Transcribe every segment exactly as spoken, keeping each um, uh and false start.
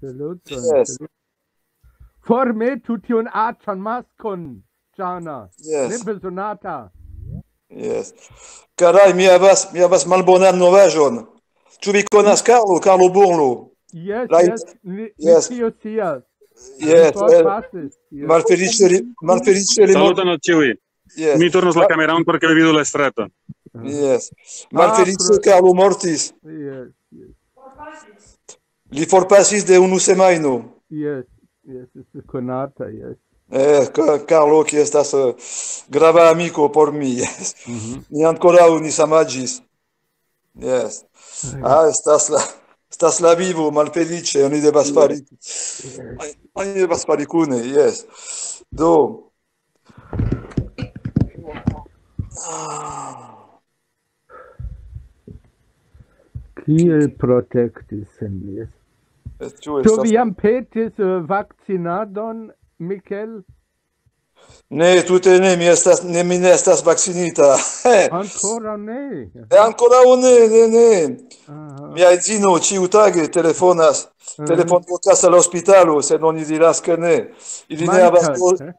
Saluton. Yes. Formetu tiun aĉan maskon, Jana. Yes. Nebezonata. Yes. Karaj, mi havas, mi havas malbonan novaĵon. Ĉu vi konas Carlo, Carlo Burlo? Yes, Right. Yes, mi, Yes. Mi tio scias. Yes. Mi eh, forpasis, yes. Malfeliĉe li, malfeliĉe li mortis. Saluton al ĉiuj. Yes. Mi turnos la kameron por ke vi vidu la straton. Yes. Malfeliĉe Carlo mortis. Yes, yes. Li forpasis de unu semajno. Yes, yes, estas konata, yes. Eh, Ca- Carlo, kiu estas eh, grava amiko por mi. Yes. Ni ankoraŭ ni samaĝis. Yes. Ah, estas la, estas la vivo malfeliĉe, oni devas fari. Oni devas fari kune, yes. Do. Ah, Kiel protektis sin, yes. Ĉu Do estas... vi jam petis eh, vakcinadon, Mikel? Ne, tute ne, mi estas, ne, mi ne estas vakcinita. Ankoraŭ ne. E ankoraŭ ne, ne, ne. Aha. Mia edzino ĉiutage telefonas, Mhm. telefonvokas al hospitalo, sed oni diras ke ne. Ili ne havas, do, Mankas, eh?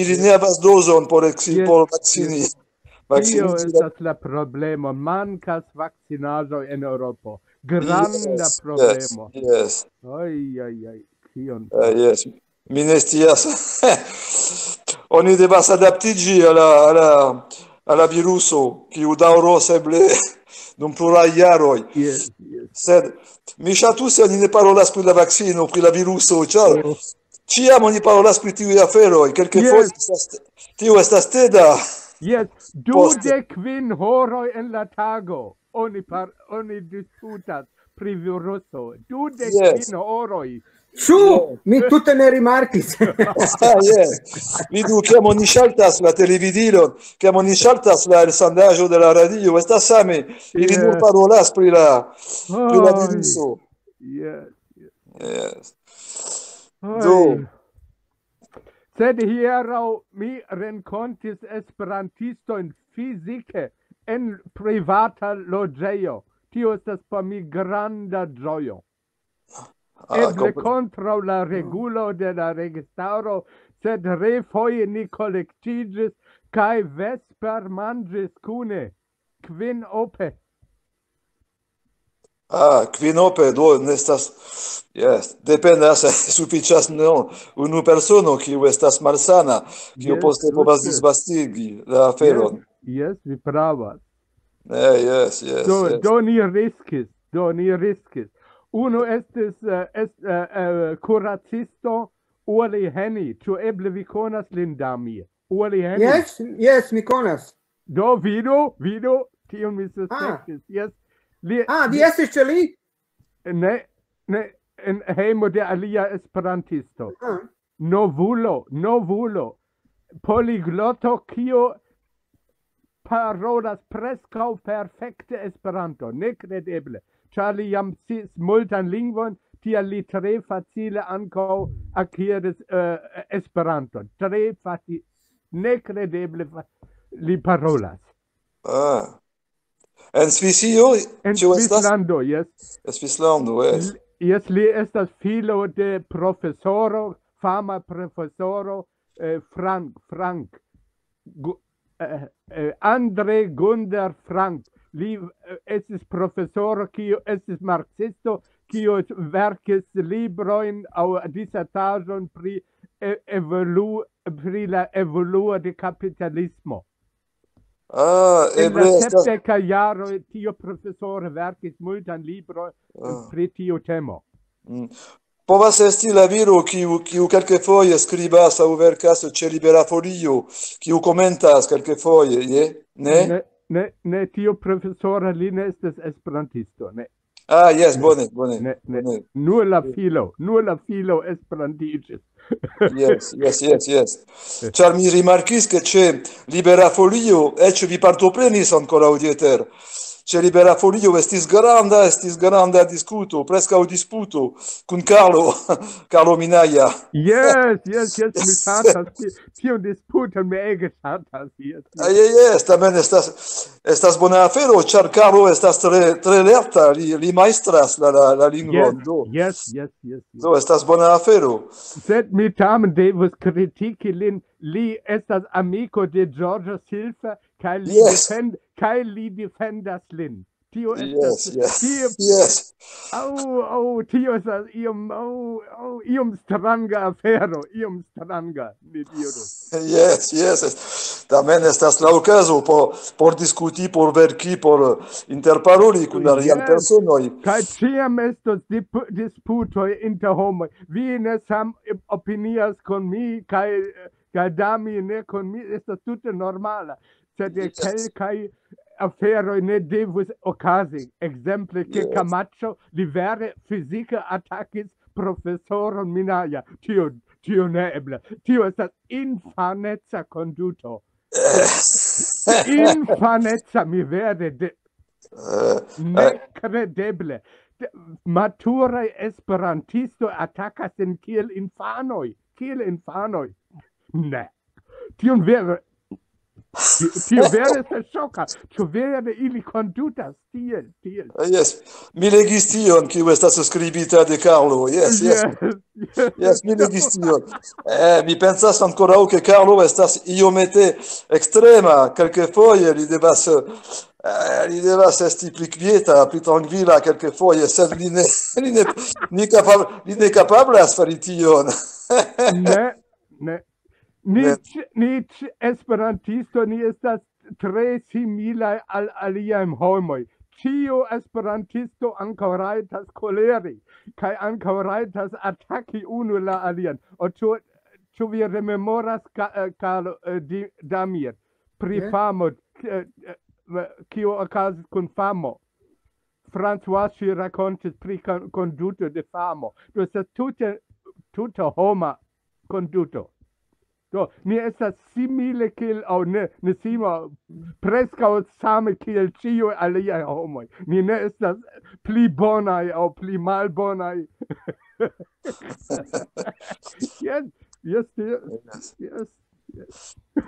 ili ne havas dozon por eksi, Yes, por vakcini. Tio Vakcini. Estas la problemo. Mankas vakcinaĵoj en Eŭropo. Granda Yes, problemo. Yes, yes. Oj, oj, oj. Kion? Eh, yes. Mi ne scias. Oni devas adaptiĝi al la, al la, al la viruso, kiu daŭros eble dum pluraj jaroj. Yes, yes. Sed mi ŝatus, se oni ne parolas pri la vakcino, pri la viruso, ĉar Oh. ĉiam oni parolas pri tiuj aferoj. Kelkfoje Yes. estas, tio estas teda. Yes, Poste. dudek kvin horoj en la tago. Oni par, oni diskutas pri viruso. Dudek kvin horoj. Ĉu? Mi tute ne rimarkis. Ah, yes. Vidu, kiam oni ŝaltas la televidilon, kiam oni ŝaltas la elsendaĵo de la radio, estas same. Ili nur Yes. Parolas pri la, pri la Oj. Viruso. Yes. Yes. Oj. Do. Sed hieraŭ mi renkontis esperantistojn fizike en privata loĝejo. Tio estas por mi granda ĝojo. Ah, Eble kompre- kontraŭ la regulo de la registaro, sed refoje ni kolektiĝis kaj vespermanĝis kune kvinope. Ah, kvinope, do, ne estas, yes, dependas, sufiĉas, no, unu persono, kiu estas malsana, kiu Yes, poste povas tute. Disvastigi la aferon. Yes, yes, vi pravas. Eh, yes, yes, Do, yes. Do ni riskis, do ni riskis. Unu estis, eh, est, eh, eh, kuracisto Uli Heni. Ĉu eble vi konas lin, Damir? Uli Heni. Yes, yes, mi konas. Do vidu, vidu, tion mi suspektis. Yes. Li, Ah, vi estis ĉe li? Ne, ne, en hejmo de alia esperantisto. Ah. Novulo, novulo. Poligloto, kio parolas preskaŭ perfekte Esperanto. Nekredeble. Ĉar li jam sciis multan lingvon, tial li tre facile ankaŭ akiris eh, Esperanton. Tre facile. Nekredeble fa- li parolas. Ah. En Svisio, En ĉu estas? Svislando, yes. En Svislando, yes. Yes, li estas filo de profesoro, fama profesoro eh, Frank, Frank, Gu- eh, eh, Andre Gunder Frank. Li eh, estis profesoro, kiu estis marksisto, kiu verkis librojn aŭ disertaĵon pri eh, evolu pri la evoluo de kapitalismo. Ah, En eble la estas. Sepdeka jaroj tio profesoro verkis multan libron Ah. Pri tiu temo. Mm. Povas esti la viro, kiu, kiu kelkfoje skribas aŭ verkas ĉe Libera Folio, kiu komentas kelkfoje, je? Ne? Ne, ne, ne, tio profesoro, li ne estas esperantisto, ne. Ah, yes, bone, bone. Ne, ne. Bone. Nur la filo, nur la filo esperantiĝis. Yes, yes, yes, yes. Ĉar mi rimarkis, ke ĉe Libera Folio eĉ vi partoprenis ankoraŭ, Dieter. ĉe Libera Folio estis granda, estis granda diskuto, preskaŭ disputo kun Carlo, Carlo Minaja. Yes, yes, yes, mi ŝatas ti- tiun disputon, mi ege ŝatas. Yes, yes. Jes, jes, tamen estas, estas bona afero, ĉar Carlo estas tre, tre lerta, li, li majstras la, la, la lingvon. Yes, Do, yes, yes, yes, yes. Do estas bona afero. Sed mi tamen devus kritiki lin. Li estas amiko de Giorgio Silva, kaj li, Yes. defend, kaj li defendas lin. Tio Yes, estas... yes, Tio, yes. oh, oh, tio estas iom, oh, oh, iom stranga afero, iom stranga, mi diru. Yes, yes. Tamen estas la okazo por, por diskuti, por verki, por interparoli kun aliaj Yes. Personoj. Kaj ĉiam estos dip- disputoj inter homoj. Vi ne sam opinias kun mi, kaj, kaj Dami ne kun mi, estas tute normala. Sed Yes. Kelkaj aferoj ne devus okazi. Ekzemple, ke Yes. Camacho, li vere fizike atakis profesoron Minaja. Tio, tio ne ebla. Tio estas infaneca konduto. Infaneca, mi vere de, Eh, nekredeble. De- Maturaj esperantistoj atakas en kiel infanoj. Kiel infanoj. Ne. Tion vere... Tio vere estas ŝoka. Ĉu vere ili kondutas tiel, tiel? Yes, mi legis tion, kiu estas skribita de Carlo. Yes, yes. Yes, yes. Yes, mi legis tion. Eh, mi pensas ankoraŭ, ke Carlo estas iomete ekstrema. Kelkfoje li devas, eh, li devas esti pli kvieta, pli trankvila kelkfoje, sed li ne, li ne, li kapab-, li ne kapablas fari tion. Ne, ne. Ni, Ne. ĉ- ni ĉ- esperantisto, ni estas tre similaj al aliaj homoj. Ĉiu esperantisto ankaŭ rajtas koleri, kaj ankaŭ rajtas ataki unu la alian. O ĉu, ĉu vi rememoras, Ka- eh, Carlo, eh, Di- Damir, pri Ne? Famo, eh, eh, kio okazis kun Famo? François, ŝi rakontis pri kon- konduto de Famo. Do estas tute, tute homa konduto. Do, ni estas simile kiel, aŭ ne, ne simo, preskaŭ same kiel ĉiuj aliaj homoj. Ni ne estas pli bonaj aŭ pli malbonaj. Jes, jes, tio, Yes. jes.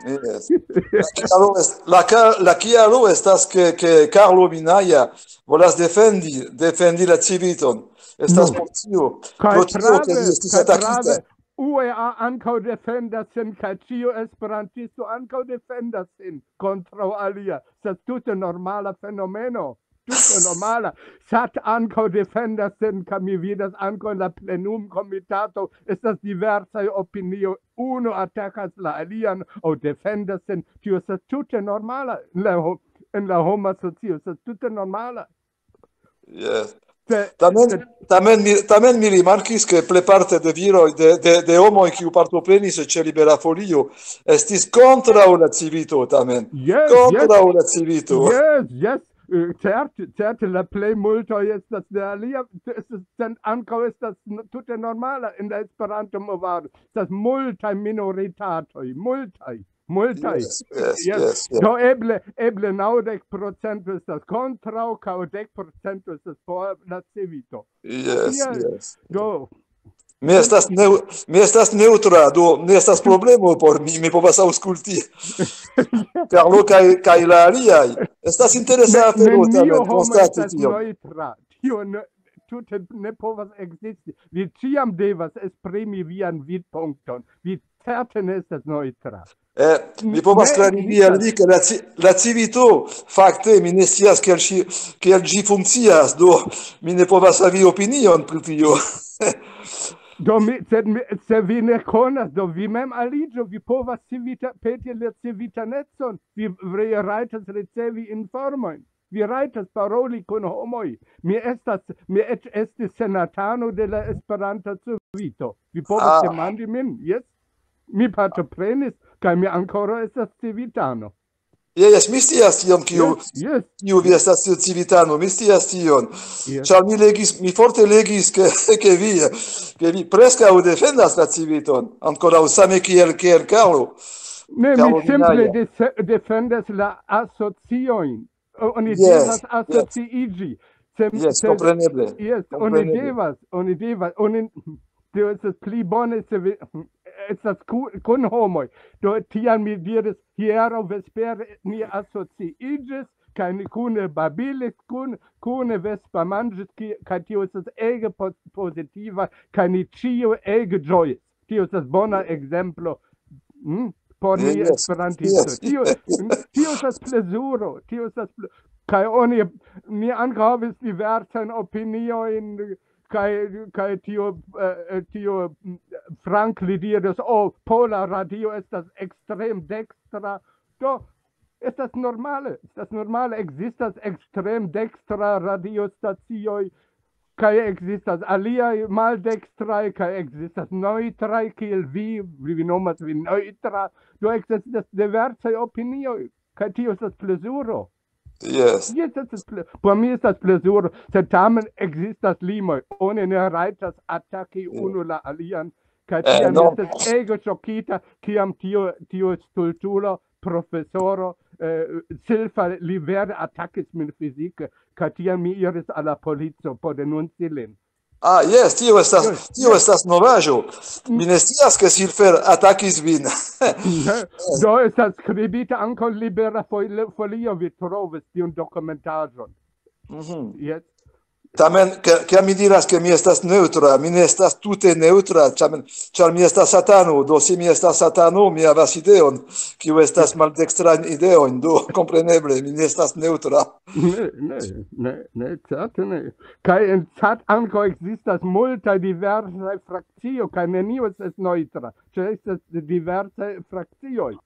Yes. La kialo est-, la ka-, la kialo estas, ke, ke Carlo Minaja volas defendi, defendi la Civiton. Estas No. Por tio. Kaj Pro tio, ke prave, li estis kaj atakita. Prave, U E A ankaŭ defendas sin, kaj ĉiu esperantisto ankaŭ defendas sin kontraŭ alia. Estas tute normala fenomeno. Tute normala. Sat ankaŭ defendas sin, kaj mi vidas ankaŭ en la plenum komitato estas diversaj opinioj. Unu atakas la alian aŭ defendas sin. Tio estas tute normala en la, ho- en la homa socio. Estas tute normala. Yes. Se- Tamen, se- tamen mi, tamen mi rimarkis, ke plejparte de viroj, de, de, de homoj, kiu partoprenis ĉe Libera Folio, estis kontraŭ la Civito, tamen. Yes, Kontraŭ la Civito. Yes, yes. Eh, Certe, certe, la plej multo estas de alia, estas, sen- ankaŭ estas n- tute normala en la Esperanto-movado. Estas multaj minoritatoj, multaj, multaj. Yes, yes, Yes. yes, yes. Do eble, eble naŭdek procento estas kontraŭ, kaj dek procento estas por la Civito. Yes, Yes. yes. Do, Mi estas neu-, mi estas neŭtra, do ne estas problemo por mi, mi povas aŭskulti. Carlo kaj, kaj la aliaj. Estas interesa Ne- afero, neniu tamen, homo konstati estas tion. Neŭtra. Tio ne, tute ne povas ekzisti. Vi ĉiam devas esprimi vian vidpunkton. Vi certe ne estas neŭtra. Eh, mi povas Ne klarigi al ekzistas. vi, ke la, ci- la Civito, fakte, mi ne scias, kiel ŝi, kiel ĝi funkcias, do mi ne povas havi opinion pri tio. Do mi, sed mi, se vi ne konas, do vi mem aliĝu, vi povas civita, peti la civitanecon, vi, vi rajtas ricevi informojn. Vi rajtas paroli kun homoj. Mi estas, mi eĉ estis senatano de la Esperanta Civito. Vi povas Ah. Demandi min, jes? Mi partoprenis, kaj mi ankoraŭ estas civitano. Jes, mi scias tion, kiu, Jes, jes. kiu vi estas, tiu Civitano, mi scias tion. Jes. Ĉar mi legis, mi forte legis, ke, ke vi, ke vi preskaŭ defendas la Civiton, ankoraŭ same kiel, kiel Carlo. Ne, mi Carlo simple Minaja. de-, defendas la asociojn. oni devas asociiĝi. Se, yes, se, kompreneble. Yes, oni devas, oni devas, oni, tio estas pli bone, se vi, estas ku, kun homoj. Do tiam mi diris, hieraŭ vespere ni asociiĝis, kaj ni kune babilis, kun, kune vespa manĝis, kaj tio estas ege po-, pozitiva, kaj ni ĉiu ege ĝojis. Tio estas bona ekzemplo, mm, por ni esperantisto. Tio, tio estas plezuro, tio estas ple-, kaj oni, mi ankaŭ havis diversajn opiniojn, kaj, kaj tio, eh, tio, mm, Frank li diris, "Oh, pola radio estas ekstrem dekstra." Do, estas normale, estas normale, ekzistas ekstrem dekstra radiostacioj, kaj ekzistas aliaj maldekstraj, kaj ekzistas neŭtraj, kiel vi, vi nomas vin neŭtra. Do ekzistas diversaj opinioj, kaj tio estas plezuro. Yes. Yes, estas ple-, por mi estas plezuro, sed tamen ekzistas limoj. Oni ne rajtas ataki unu la alian, kaj tiam mi estas ege ŝokita, kiam tio, tio stultulo, profesoro, eh, Silfa, li vere atakis min fizike, kaj tiam mi iris al la polico por denunci lin. Ah, yes, tio estas, tio estas novaĵo. Mi ne scias, ke Silfer atakis vin. Ne. Do estas skribita ankaŭ Libera Fol-, Folio, vi trovos tiun dokumentaĵon. Mhm. Yes. Tamen, ke, ke mi diras, ke mi estas neŭtra, mi ne estas tute neŭtra, tamen, ĉar mi estas satano, do se mi estas satano, mi havas ideon, kiu estas maldekstrajn ideojn, do kompreneble, mi ne estas neŭtra. Ne, ne, ne, ne, certe ne. Kaj en cat ankaŭ ekzistas multaj diversaj frakcioj, kaj neniu estas neŭtra, ĉar estas diversaj frakcioj.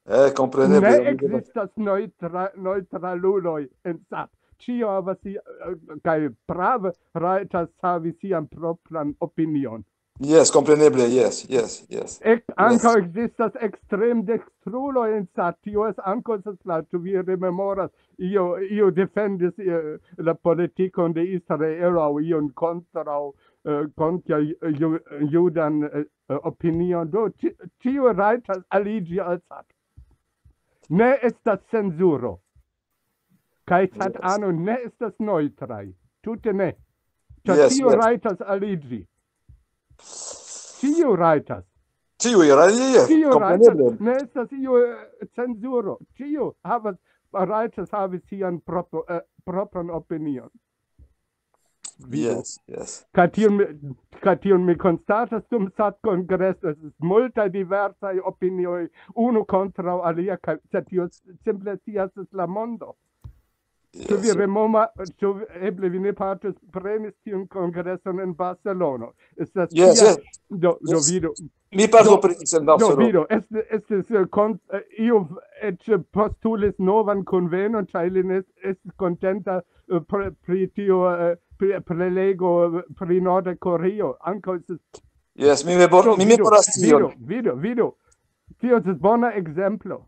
Eh, kompreneble. Ne ekzistas neŭtra-, neŭtraluloj en cat. Ĉio havas si-, eh, kaj prave rajtas havi sian propran opinion. Yes, kompreneble, yes, yes, yes. Ek-, ankaŭ ekzistas ekstremdekstruloj en cat. Tio estas ankaŭ estas la, ĉu vi rememoras, io, io defendis, eh, la politikon de Israelo aŭ ion kontraŭ, eh, kontraŭ ju-, judan, eh, opinion. Do, ĉi-, ĉiu rajtas aliĝi al cat. Ne estas cenzuro. Kaj cat ano ne estas neŭtraj. Tute ne. Ĉar yes, ĉiu yes. Rajtas aliĝi. Ĉiu rajtas. Ĉiu rajtas, yes, kompreneble. Ne estas iu, eh, cenzuro. Ĉiu havas, rajtas havi sian propo-, eh, propran opinion. Vidu. Yes, yes. Kaj tion mi, kaj tion mi konstatas dum cat-kongreso, estas multaj diversaj opinioj, unu kontraŭ alia, kaj, sed tio simple tias estas la mondo. Ĉu vi yes, remoma-, ĉu vi, eble vi ne partoprenis tiun kongreson en Barcelono? Estas yes, tia, yes. Do, do yes. Vidu. Mi partoprenis en Barcelono. Do, vidu, estis, estis, eh, kon-, eh, iu eĉ postulis novan konvenon, ĉar li ne est-, estis kontenta, eh, pri, pri tio, eh, pri, prelego, eh, pri Norda Koreio. Ankaŭ estis... Yes, mi mebor-, do, mi vidu, memoras tion. Vidu, vidu, vidu. Tio estas bona ekzemplo.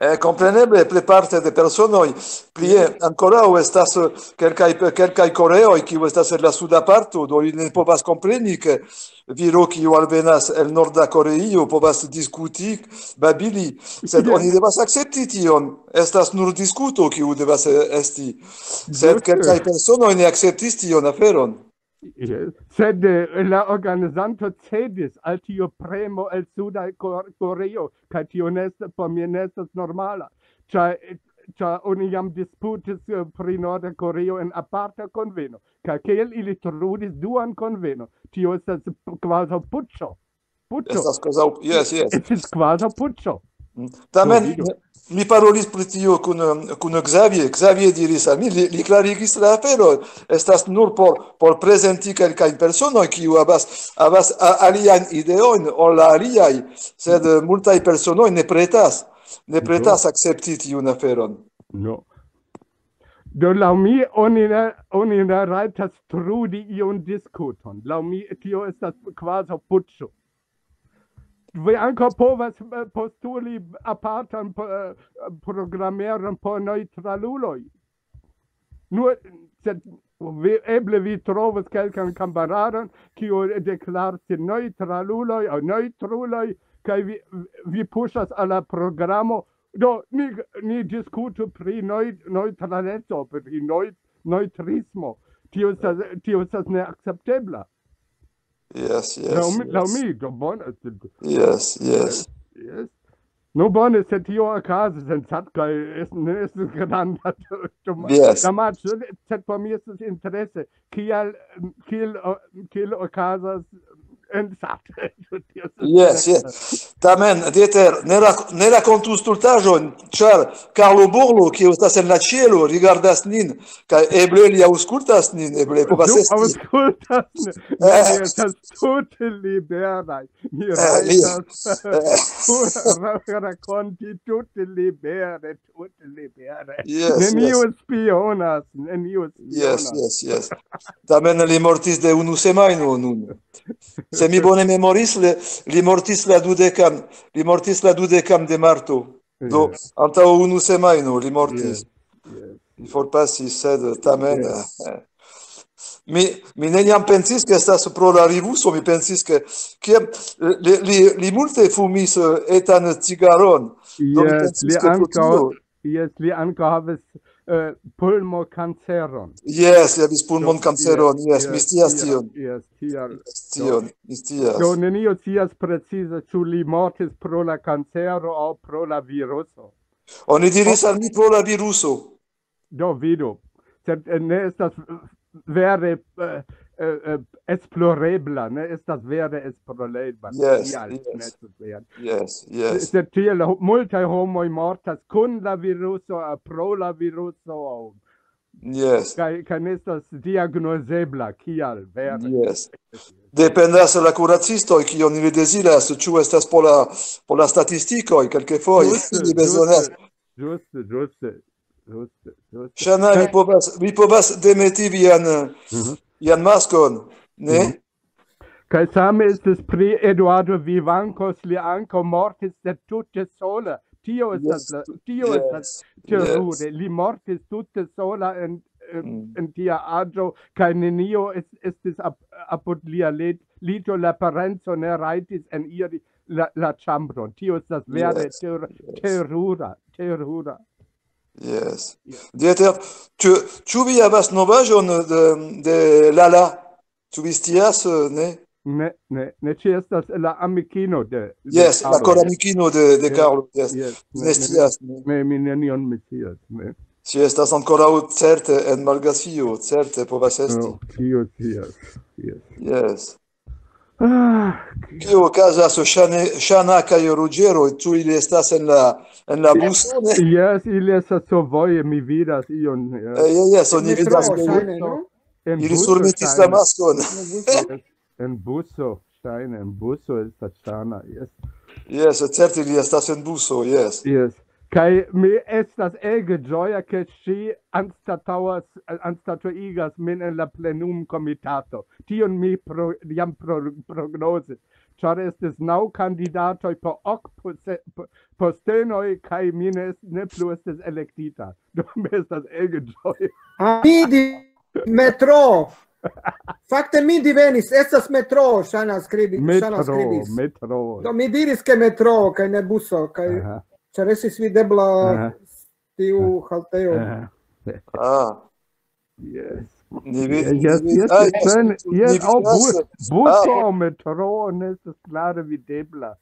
Eh, kompreneble, plejparte de personoj. Plie, ankoraŭ estas, eh, kelkaj, kelkaj koreoj, kiu estas en la suda parto, do ili ne povas kompreni, ke viro, kiu alvenas el Norda Koreio, povas diskuti, babili, sed yes. Oni devas akcepti tion. Estas nur diskuto, kiu devas, eh, esti. Sed ĝuste. Kelkaj personoj ne akceptis tion aferon. Yes. Sed, eh, la organizanto cedis al tio premo el Suda Kor-, Koreio, kaj tio ne est-, por mi ne estas normala. Ĉar, ĉar oni jam disputis, eh, pri Norda Koreio en aparta konveno, kaj kiel ili trudis duan konveno, tio estas p-, kvazaŭ puĉo. Puĉo. Estas kvazaŭ, yes, yes. Estis kvazaŭ puĉo. Mm. Tamen, do, vidu. Mi parolis pri tio kun, um, kun Xavier. Xavier diris al mi, li, li klarigis la afero. Estas nur por, por prezenti kelkajn personoj, kiu havas, havas a-, aliajn ideojn ol la aliaj, sed, eh, multaj personoj ne pretas, ne pretas akcepti tiun aferon. No. Do, laŭ mi, oni ne, oni ne rajtas trudi iun diskuton. Laŭ mi, tio estas kvazaŭ puĉo. Vi ankaŭ povas, eh, postuli apartan po-, eh, programeron por neŭtraluloj. Nur, sed vi, eble vi trovos kelkan kameraron, kiu deklaris neŭtraluloj aŭ neŭtruloj, kaj vi, vi puŝas al la programo Do, ni, ni diskutu pri neu-, neŭtraleco, pri neu-, neŭtrismo. Tio estas, tio estas neakceptebla. Yes, Laŭ yes, mi, laŭ yes. Mi, do bone. Yes, yes. Yes. No bone, se tio okazas en Sat kaj es-, ne estas granda damaĝo, Yes. sed por mi estas interese, kiel, kiel, o-, kiel okazas en Sat. Tio estas Yes, yes. Tamen, Dieter, ne, rak ne rakontu stultaĵojn, ĉar Karlo Burlo, kiu estas en la ĉielo, rigardas nin, kaj eble li aŭskultas nin, eble povas Du esti. Aŭskultas, ne, Eh. Li estas tute liberaj. Mi Eh, li- rajtas pura ra-, rakonti tute libere, tute libere. Yes, Neniu yes. Spionas, neniu Yes, spionas. Yes, yes. Tamen li mortis de unu semajno nun. Se mi bone memoris, li, li mortis la dudekan, li mortis la dudekan de marto. Do, Yes. Antaŭ unu semajno li mortis. Yes, yes. Li forpasis, sed tamen, Yes. eh, mi, mi neniam pensis, ke estas pro la viruso, mi pensis, ke, ke li, li, li multe fumis, eh, etan cigaron. Do mi Yes, pensis, li ke pro ankaŭ, tio. Yes, li ankaŭ havis, eh, pulmokanceron. Yes, li havis pulmonkanceron, yes, mi Yes, scias tiel, tion. Yes, tiel. Scias tion, mi scias. Do neniu scias precize, ĉu li mortis pro la kancero aŭ pro la viruso. Oni diris al mi pro la viruso. Do vidu. Sed, eh, ne estas, eh, vere, eh, eh, eh, esplorebla, ne estas vere esplorebla. Yes, Tial, yes. Ne estas vere. Yes, yes, Sed tiel ho-, multaj homoj mortas kun la viruso, eh, pro la viruso, aŭ yes. kaj, kaj ne estas diagnozebla, kial vere. Yes. Dependas la kuracistoj, kion ili deziras, ĉu estas por la, por la statistikoj, kelkfoje Ĝuste, ili bezonas. ĝuste, ĝuste, ĝuste, ĝuste, ĝuste. Ŝana, vi povas, vi povas demeti vian, Mhm. vian maskon, ne? Mhm. Kaj same estis pri Eduardo Vivancos, li ankaŭ mortis de tute sola. Tio estas, Yes, la, tio yes, estas terure. Li mortis tute sola en, en, Mm. en tia aĝo, kaj nenio es-, estis ap-, apud lia lit-, lito, la parenco ne rajtis eniri la, la ĉambron. Tio estas vere Yes, ter-, yes. terura, terura. Yes. Dieter, ĉu, ĉu vi havas novaĵon de, de Lala? Ĉu vi scias, eh, ne? Ne, ne, ne, ŝi estas la amikino de, de Yes, la Carlo. Koramikino de, de Yes, Carlo, yes. Yes, Ne scias, ne? Ne, mi nenion mi scias, ne. Ŝi estas ankoraŭ certe en Malgafio, certe povas esti. No, tio scias. Yes. Yes. Ah, Kio okazas, Ŝane-, Ŝana kaj Ruĝero, ĉu ili estas en la, en la buso, ne? Yes, ili estas survoje, mi vidas ion. Yes. Eh, yes, yes, oni Metro, vidas, ke ŝajne, no? En ili buso, surmetis la ŝajne. Maskon. En buso. Yes. En buso, ŝajne, en buso estas Ŝana, yes. Yes, certe ili estas en buso, yes. Yes. Kaj mi estas ege ĝoja, ke ŝi anstataŭas, anstatuigas min en la plenumkomitato. Tion mi pro, jam pro, prognozis, ĉar estis naŭ kandidatoj por ok pose-, po-, postenoj, kaj mi ne, ne plu estis elektita. Do mi estas ege ĝoja. A mi di Metro. Fakte mi divenis, estas Metro, Ŝana skribi-, Ŝana Metro, skribis. Metro. Do mi diris, ke Metro, kaj ne buso, kaj Aha, ĉar estis videbla aha, tiu haltejo. Aha. Ah, Yes. ni vi-, Yes, ni vi-, yes, ah, yes, yes, ŝajne, ni yes, oh, vidas, bu-, buso ah, Metro ne estas klare videbla.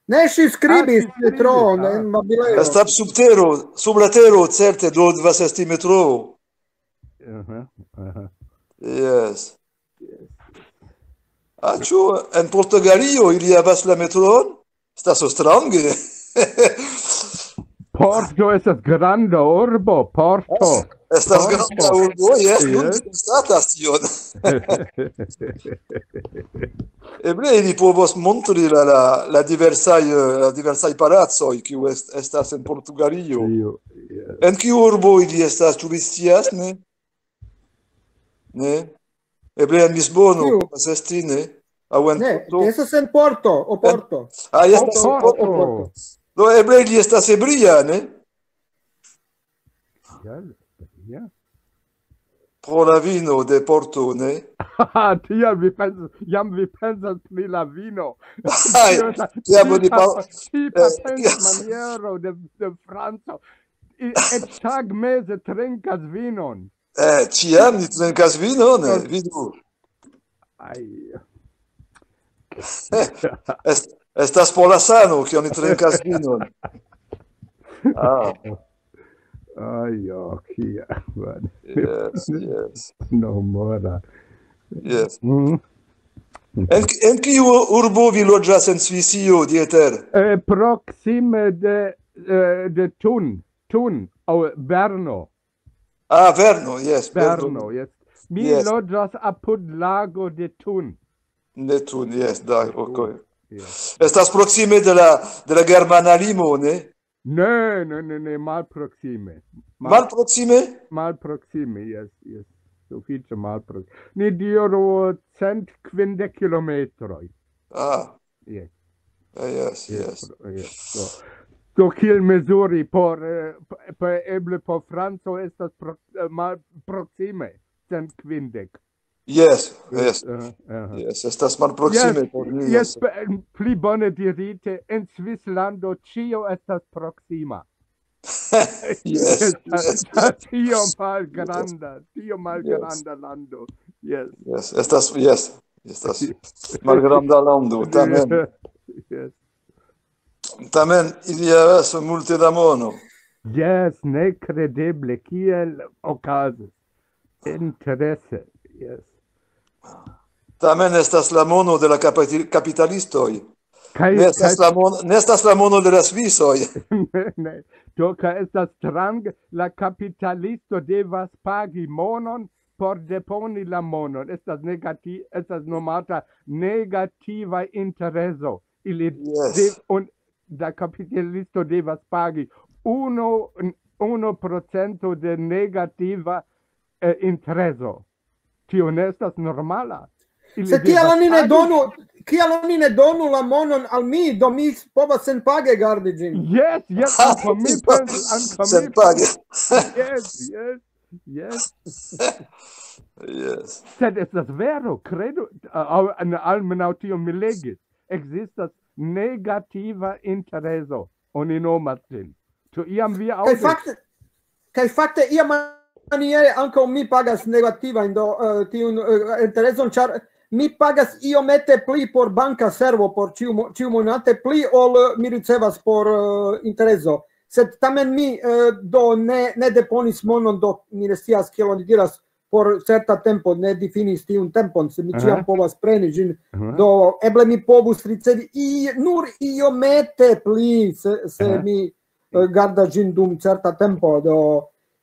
Ne, ŝi skribis Ah, ŝi skribis, Metro, ah. En Babilejo. Estas sub tero, sub la tero, certe, do devas esti Metro. Aha, aha. Yes. Ah, ĉu en Portugalio ili havas la Metron? Estas strange. Porto estas granda urbo, Porto. Estas Porto. Granda urbo, yes, nun Yes. Konstatas tion. Eble ili povos montri la, la, la diversaj, eh, la diversaj palacoj, kiu est-, estas en Portugalio. Io, yes. En kiu urbo ili estas, ĉu vi scias, ne? Ne? Eble en Lisbono, Kiu? Povas esti, ne? Aŭ en Ne, Porto? Estas en Porto, o Porto. Ah, estas en Porto. Porto. Do eble ili estas ebria, ne? Ja, ja. pro la vino de Porto, ne? Tiam vi pensas, jam vi pensas pri la vino. Tiam oni tipa, tipa eh, yes. Maniero de, de Franco. Et tag meze trinkas vinon. Eh, ciam ni trinkas vinon, ne? Vidu. Ai. Est, estas por la sano, ke oni trinkas vinon. Ah. Ajo, kia. Yes, yes. No mora. Yes. Mm. En, en kiu urbo vi loĝas en Svisio, Dieter? Eh, proksime de, eh, de Thun. Thun, aŭ Berno. Ah, Verno, yes. Berno, yes. Mi yes. Loĝas apud lago de Thun. De Thun, yes, da, ok. Yes. Estas proksime de la, de la germana limo, ne? Ne, ne, ne, ne, malproksime. Malproksime? Malproksime, yes, yes. Sufiĉe malproksime. Ni diru cent kvindek kilometroj. Ah. Yes. Uh, yes, yes. Yes. So. So kiel mezuri por, eh, por eble por Franco estas pro, eh, mal proksime cent kvindek. Yes, yes. Uh, uh, yes, estas malproksime yes, por ni. Yes, pli bone dirite, en Svislando ĉio estas proksima. Yes, yes. Tio malgranda, tio malgranda lando. Yes. Yes, estas, yes. Estas malgranda lando, tamen. Yes. Tamen ili havas multe da mono. Yes, nekredeble kiel okazis. Interese. Yes. Tamen estas la mono de la kapitalistoj. Kaj, ne, estas kaj... La mon, ne estas la mono de la Svisoj. Ne. Do, kaj estas strange, la kapitalisto devas pagi monon por deponi la monon. Estas negati, estas nomata negativa intereso. Ili yes. Dev, un, la kapitalisto devas pagi unu, unu procento de negativa eh, intereso. Tio ne estas normala. Se kial oni ne donu, kial oni ne donu la monon al mi, do mi povas senpage gardi ĝin. Yes, yes, ankaŭ mi pensas, ankaŭ mi senpage. Yes, yes, yes. Yes. Sed estas vero, kredu, al, almenaŭ tio mi legis. Ekzistas negativa intereso, oni nomas ĝin. Ĉu iam vi aŭdis? Kaj fakte, kaj fakte iamaniere ankaŭ mi pagas negativajn do uh, tiun uh, intereson, ĉar mi pagas iomete pli por banka servo por ĉiu, ĉiu monate pli ol mi ricevas por uh, intereso. Sed tamen mi uh, do ne, ne deponis monon, do mi ne scias kiel oni diras por certa tempo, ne difinis tiun tempon, se mi ĉiam povas preni ĝin. Do eble mi povus ricevi i, nur iomete pli, se, se mi uh, garda ĝin dum certa tempo. Do,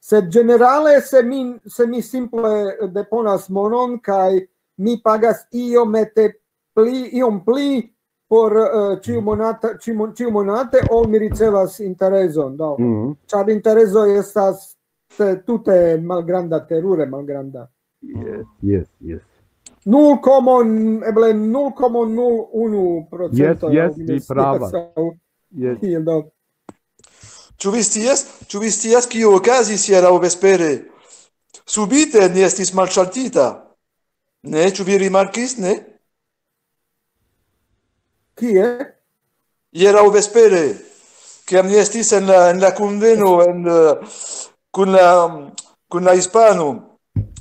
sed ĝenerale, se mi, se mi simple deponas monon kaj mi pagas iomete pli, iom pli por uh, ĉiu monata, ĉiu, ĉiu monate, ol mi ricevas intereson. Do, mm -hmm. Ĉar intereso estas tute malgranda, terure malgranda. Yes, yes, yes. Nul komon, eble nul komon nul unu procento. Yes, yes, vi pravas. Yes. Ĉu vi scias, ĉu vi scias, kio okazis hieraŭ vespere? Subite ni estis malŝaltita. Ne, ĉu vi rimarkis, ne? Kie? Hieraŭ vespere, kiam ni estis en la, en la kunveno en, uh, kun la, kun la hispano,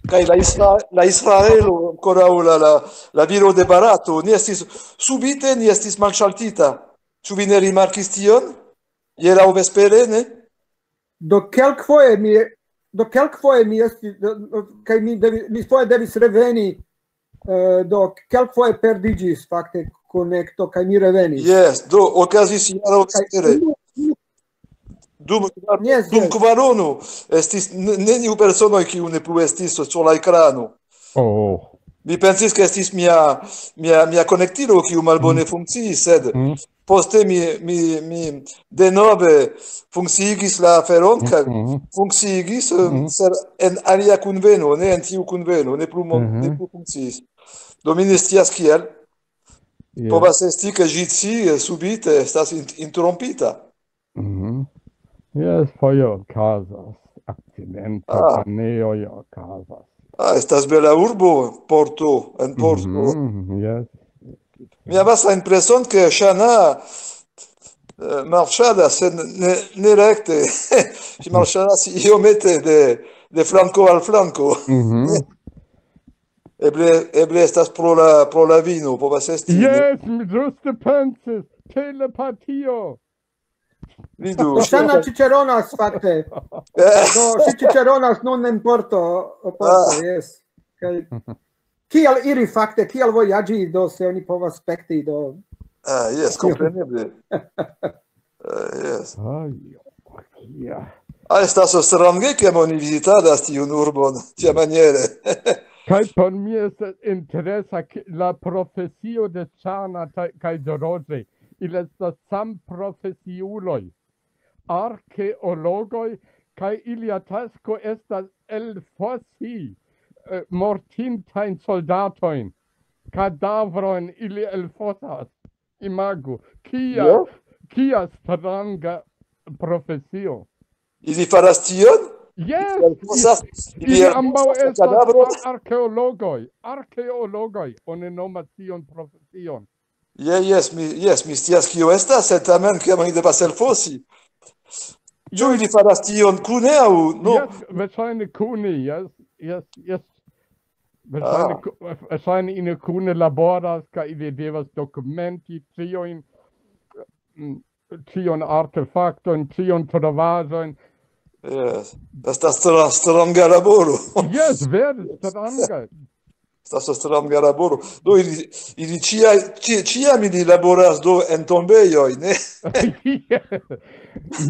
kaj la, isra, la Israelo, ankoraŭ la, la, la viro de Barato, ni estis, subite ni estis malŝaltita. Ĉu vi ne rimarkis tion? Hieraŭ vespere, ne? Do kelkfoje mi, do kelkfoje mi estis, kaj mi, devi, mi foje devis reveni, uh, do kelkfoje perdiĝis fakte konekto, kaj mi revenis. Yes, do okazis hieraŭ vespere. Dum, yes, dum yes. Kvarono estis neniu personoj, kiu ne plu estis sur la ekrano. Oh. Mi pensis, ke estis mia, mia, mia konektilo, kiu malbone mm. Funkciis, sed mm. Poste mi, mi, mi denove funkciigis la aferon, kaj mm. Funkciigis mm. Sed en alia kunveno, ne en tiu kunveno, ne plu, mm -hmm. Ne plu funkciis. Do mi ne scias kiel. Yes. Povas esti, ke ĝi ci subite estas interrompita. Mm -hmm. Yes, foje okazas, akcidento, ah. Paneoj okazas. Ah, estas bela urbo, Porto, en Porto. Mhm, yes. Mi havas la impreson, ke Ŝana eh, marŝadas, sed ne, ne rekte. Ŝi marŝadas iomete de, de flanko al flanko. Mhm. Eble, eble estas pro la, pro la vino, povas esti. Yes, mi ĝuste pensis. Telepatio. Vidu. Ŝana ĉiĉeronas, fakte. Eh, Do, ŝi ĉiĉeronas nun en Porto. Porto, Ah. Yes. Kaj kiel iri, fakte, kiel vojaĝi, do, se oni povas spekti, do. Ah, jes, kompreneble. Ah, jes. Aj, ja. Ah, estas strange, ke oni vizitadas tiun urbon tiamaniere. Kaj por mi estas interesa, ke la profesio de Ŝana kaj, kaj de Roĝe, ili estas samprofesiuloj, arkeologoj, kaj ilia tasko estas elfosi eh, mortintajn soldatojn, kadavrojn ili elfosas. Imagu, kia, Jo. kia stranga profesio. Ili faras tion? Yes, Elfosas, ili ili ambaŭ elfosas estas kadavron? Arkeologoj, arkeologoj, oni nomas tiun profesion. Je, jes, mi, jes, mi scias, kio estas, sed tamen, kiam oni devas elfosi. Ĉu ili faras tion kune aŭ no? Yes, verŝajne kune, yes, yes, yes. Verŝajne Ah. ku- verŝajne ili kune laboras, kaj ili devas dokumenti tiujn, mm, tiujn artefaktojn, tiujn trovaĵojn. Jes. Estas stra-, stranga laboro. Yes, vere stranga. Estas stranga laboro. Do ili, ili ĉia-, ĉi-, ĉiam ili laboras do en tombejoj, ne?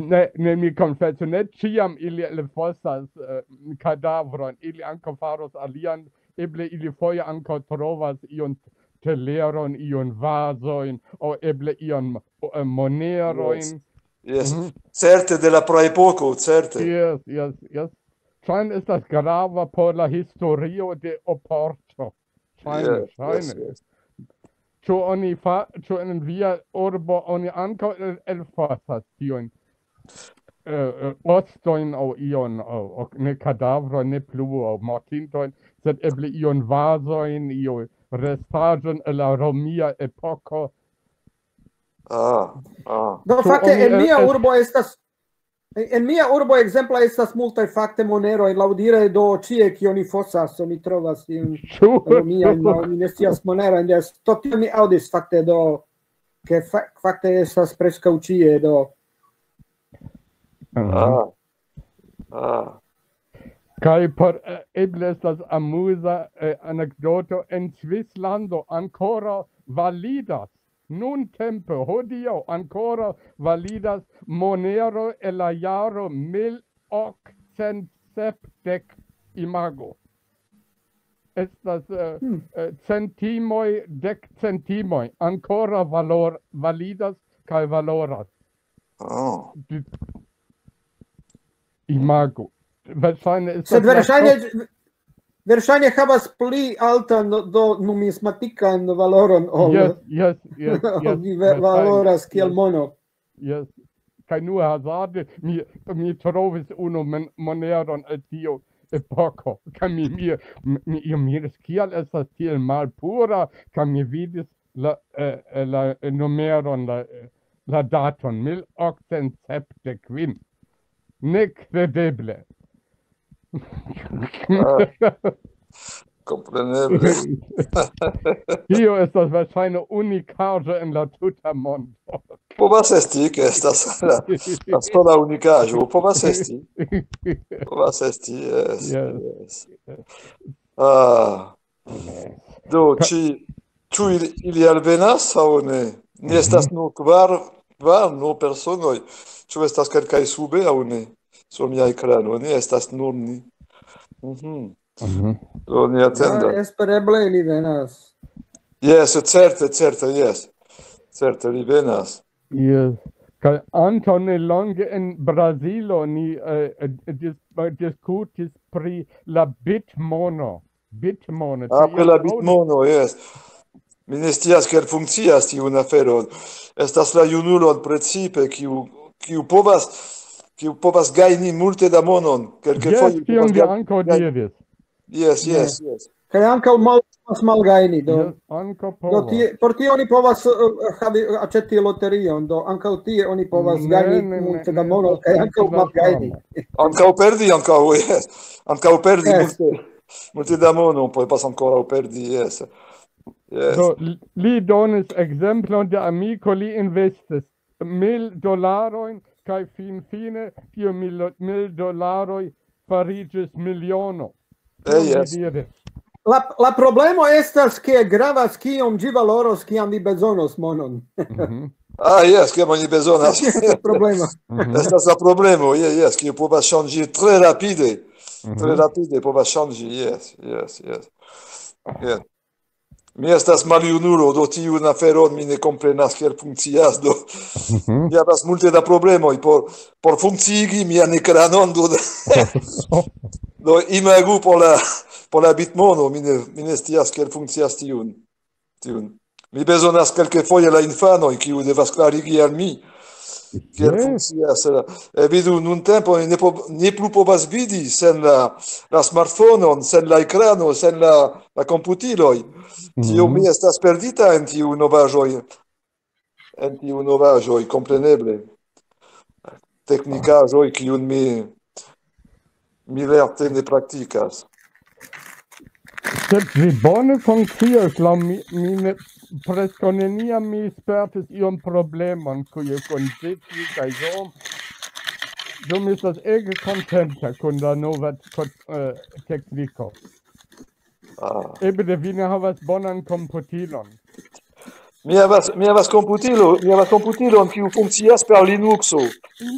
Ne, ne, mi konfesu, ne ĉiam ili elfosas eh, kadavrojn, ili ankaŭ faros alian, eble ili foje ankaŭ trovas ion teleron, ion vazojn, aŭ eble ion eh, monerojn. Jes. Jes. Mhm. Certe de la praepoko, certe. Yes, yes, yes. Ŝajne estas grava por la historio de Oporto. Ŝajne, Jes, ŝajne. jes, jes. Ĉu oni fa, ĉu en via urbo oni ankaŭ el- elfosas tiujn eh, eh, ostojn aŭ ion, aŭ, aŭ ne kadavrojn, ne plu, aŭ mortintojn, sed eble ion vazojn, io restaĵon el la romia epoko. Ah, ah. Do, Ĉu fakte, oni en mia el- urbo estas en mia urbo ekzemple estas multaj fakte moneroj, laŭdire do ĉie kion oni fosas, oni trovas iun Ĉu? romian, laŭ mi ne scias monerojn, yes, to tion mi aŭdis fakte do, ke fa- fakte estas preskaŭ ĉie do. Mhm. Ah. Ah. Kaj por eh, eble estas amuza eh, anekdoto, en Svislando ankoraŭ validas, nuntempe, hodiaŭ ankoraŭ validas monero el la jaro mil okcent sepdek, imago. Estas eh, Hmm. eh, centimoj, dek centimoj, ankoraŭ valor, validas kaj valoras. Oh. Imago. Verŝajne estas Sed la verŝajne verŝajne havas pli altan do numismatikan valoron ol Yes, yes, yes, yes, vi ve- valoras kiel mono. Yes. Kaj nur hazarde mi, mi trovis unu men- moneron el tiu epoko. Kaj mi, mi, mi, mi miris, kial estas tiel malpura, kaj mi vidis la, eh, eh, la numeron, la, eh, la daton, mil okcent sepdek kvin. Nekredeble. Ah. Kompreneble. Tio estas verŝajne unikaĵo en la tuta mondo. Povas esti, ke estas la, la sola unikaĵo. Povas esti. Povas esti, yes, Yes. yes. Ah. Do, ĉi, ĉu ili, ili alvenas aŭ ne? Ni estas nur kvar, kvar, nur personoj. Ĉu estas kelkaj sube aŭ ne? Sur mia ekrano, ne estas nur ni. Mhm. Mhm. Do, ni atendas. Ja, espereble ili venas. Yes, certe, certe, yes. Certe, li venas. Yes. Kaj antaŭ nelonge en Brazilo ni eh, eh, dis, eh, diskutis pri la bitmono. Bitmono. Ah, Ĉu pri la iam aŭdis? Bitmono, yes. Mi ne scias, kiel funkcias tiun aferon. Estas la junulon precipe, kiu, kiu povas, kiu povas gajni multe da monon. Kelkfoje Yes, tion vi gaj- ankaŭ gaj- diris. Yes, yes, yes. Kaj ankaŭ mal-, povas malgajni, do, Ankaŭ do tie, por tio oni povas eh, havi, aĉeti loterion, do ankaŭ tie oni povas gajni multe da mono, kaj ankaŭ malgajni. Ankaŭ perdi, ankaŭ, yes. Ankaŭ perdi multe, multe da mono, povas ankoraŭ perdi, yes. Yes. Do, li donis ekzemplon de amiko, li investis mil dolarojn, kaj finfine tiu mil, mil dolaroj fariĝis miliono. Eh, yes. Diris. La, la problemo estas, ke gravas, kiom ĝi valoros, kiam vi bezonos monon. Ah, yes, kiam oni bezonas. Problema. Estas la problemo, yes, yes, kiu povas ŝanĝi tre rapide. Tre rapide povas ŝanĝi, yes, yes, yes. Yes. Mi estas maljunulo, do tiun aferon mi ne komprenas, kiel funkcias, do mi havas multe da problemoj por, por funkciigi mian ekranon, do, do imagu por la, por la bitmono, mi ne, mi ne scias, kiel funkcias tiun, tiun. Mi bezonas kelkfoje la infanoj, kiu devas klarigi al mi, kiel funkcias la, eh, vidu, nuntempe oni ne po-, ne plu povas vidi sen la, la smartfonon, sen la ekrano, sen la, la komputiloj. Tio mi estas perdita en tiu novaĵoj, en tiu novaĵoj, kompreneble. Teknikaĵoj, kiun mi, mi lerte ne praktikas. Sed vi bone funkcias, laŭ mi, mi ne, preskaŭ neniam mi spertis iom problemon, kuje kun ĝi, kaj so. Do mi estas ege kontenta kun la nova ko-, eh, tekniko. Ah. Eble vi ne havas bonan komputilon. Mi havas, mi havas komputilo, mi havas komputilon, kiu funkcias per Linuxo.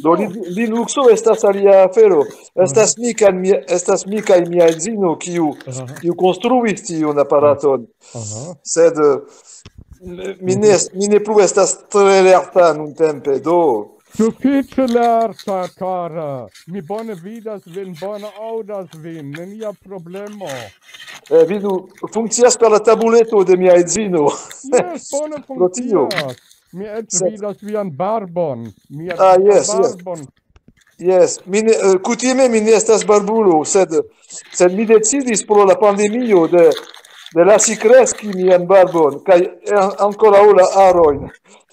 Do Li-, Linuxo estas alia afero. Estas mi kaj mia, estas mi kaj mia edzino, kiu, kiu konstruis tiun aparaton. Sed, eh, mi ne, mi ne plu estas tre lerta nuntempe, do. Sufiĉe lerta, kara. Mi bone vidas vin, bone aŭdas vin. Nenia problemo. Eh, vidu, funkcias per la tabuleto de mia edzino. Yes, bone Pro tio. Funkcias. Mi eĉ vidas vian barbon. Mi eĉ Ah, vidas yes, yes. Barbon. Yes, mi ne, eh, kutime mi ne estas barbulo, sed, sed mi decidis pro la pandemio de, de lasi kreski mian barbon, kaj an-, ankoraŭ la harojn.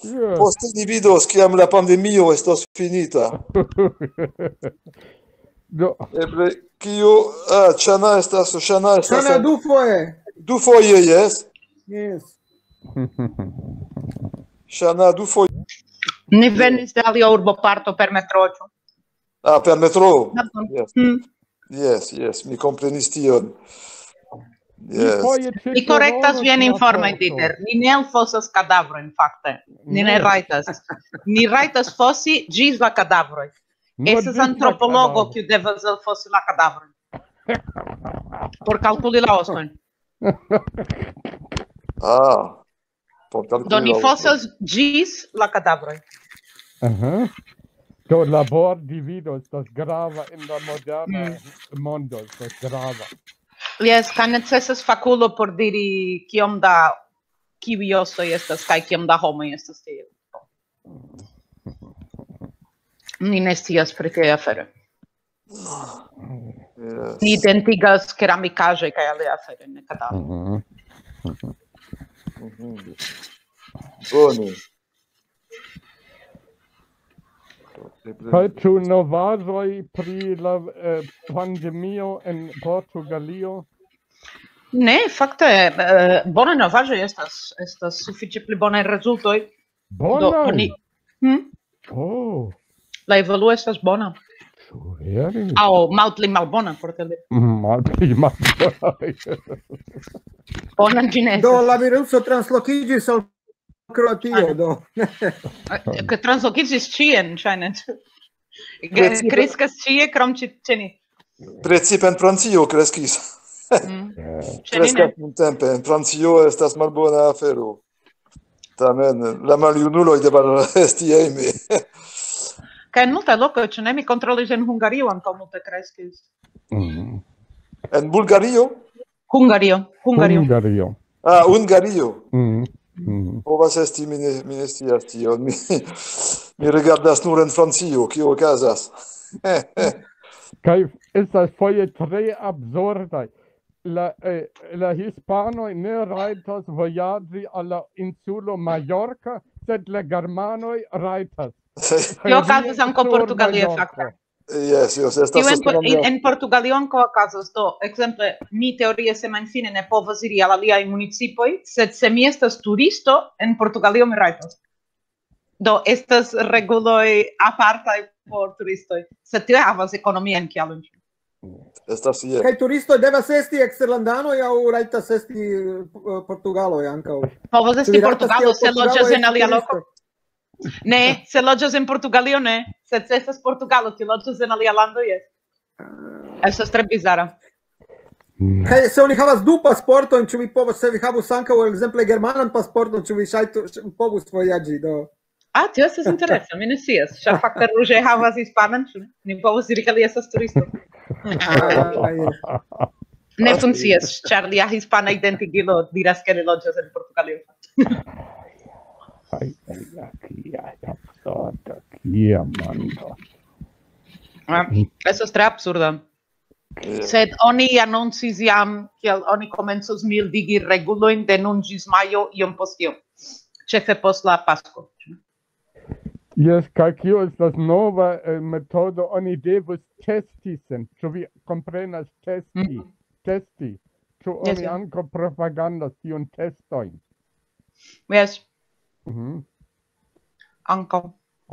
Yes. Poste ni vidos, kiam la pandemio estos finita. Do, Eble, kio, ah, Ŝana estas, Ŝana estas. Ŝana dufoje. Dufoje, yes. Yes. Ŝana dufoje. Ni venis de alia urboparto per metroĉo. Ah, per metro. Yes. Hmm. Yes, yes, mi komprenis tion. Yes. Foje ĉe Mi korektas Tirolo vian tia informon, sorto. Dieter. Ni ne elfosas kadavrojn, fakte. Ni ne Ne. Rajtas. Ni rajtas fosi ĝis la kadavroj. Nur Estas ĝis la antropologo, kadavroj. Kiu devas elfosi la kadavrojn. Por kalkuli la ostojn. Ah, por kalkuli Do ni la fosas ĝis la kadavroj. Aha. Do, labordivido estas grava en la moderna Mm. mondo, estas grava. Jes, kaj necesas fakulo por diri kiom da kiuj ostoj estas kaj kiom da homoj estas tie. Ni ne scias pri tiaj aferoj. Yes. Ni identigas keramikaĵoj kaj aliaj aferoj, ne kadavroj. Mhm. Mhm. Bone. Kaj ĉu novaĵoj pri la eh, pandemio en Portugalio? Ne, fakte, eh, bona novaĵo estas, estas sufiĉe pli bonaj rezultoj. Do, Bonaj! Oni, hm? Oh, La evoluo estas bona. Ĉu vere? Aŭ malpli malbona, por tele. Malpli malbonaj. Bona ĝi ne Do estas. La viruso translokiĝis al Kroatio, do. Ke translokiĝis ĉien, ŝajne. Precipe- Kreskas ĉie, krom ĉi, ĉe ni. Precipe en Francio kreskis. Mm. Eh, Ĉe ni ne. Kreskas nuntempe. En Francio estas malbona afero. Tamen, la maljunuloj devas esti hejme. Kaj en multaj lokoj, ĉu ne, mi kontrolis, en Hungario ankaŭ multe kreskis. Mhm. En Bulgario? Hungario, Hungario. Hungario. Ah, Hungario. Mhm. Mhm. Povas esti, mi ne, mi ne scias tion. Mi, mi rigardas nur en Francio, kio okazas. Kaj estas foje tre absurdaj. la, eh, la hispanoj ne rajtas vojaĝi al la insulo Mallorca, sed la germanoj rajtas. Tio okazas ankaŭ Portugalie, fakte. Yes, yes, estas Tio en, en, en Portugalio ankaŭ okazas. Do, ekzemple, mi teorie semajnfine ne povas iri al aliaj municipoj, sed se mi estas turisto, en Portugalio mi rajtas. Do, estas reguloj apartaj por turistoj, sed tio havas ekonomian kialon. Estas je. Kaj turistoj devas esti eksterlandanoj aŭ rajtas esti eh, portugaloj ankaŭ? Povas Ĉu esti vi rajtas Portugalo, kiel se portugaloj loĝas en esti alia loko. turistoj? Ne, se loĝas en Portugalio, ne. Sed se estas Portugalo, kiu loĝas en alia lando, jes. Estas tre bizara. Kaj se oni havas du pasportojn, ĉu vi povas, se vi havus ankaŭ ekzemple germanan pasporton, ĉu vi ŝajtu, ĉu vi povus vojaĝi do? Ah, tio estas interesa, mi ne scias. Ĉar fakte Ruĝe havas hispanan, ĉu ne? Ni povas diri, ke li estas turisto. Ah, jes. Ne funkcias, ĉar lia hispana identigilo diras, ke li loĝas en Portugalio. Ai, ai, ai, kia absurdo, kia mondo. Ah, Estas tre absurda. Sed oni anoncis jam, kiel oni komencos mildigi regulojn de nun ĝis majo iom post iom. Ĉefe post la Pasko. Jes, kaj kio estas nova eh, metodo, oni devus testi sin. Ĉu vi komprenas testi? Mhm. Testi. Ĉu Jes, oni jes. ankaŭ propagandas tiun testojn? Jes, Mhm. ankaŭ.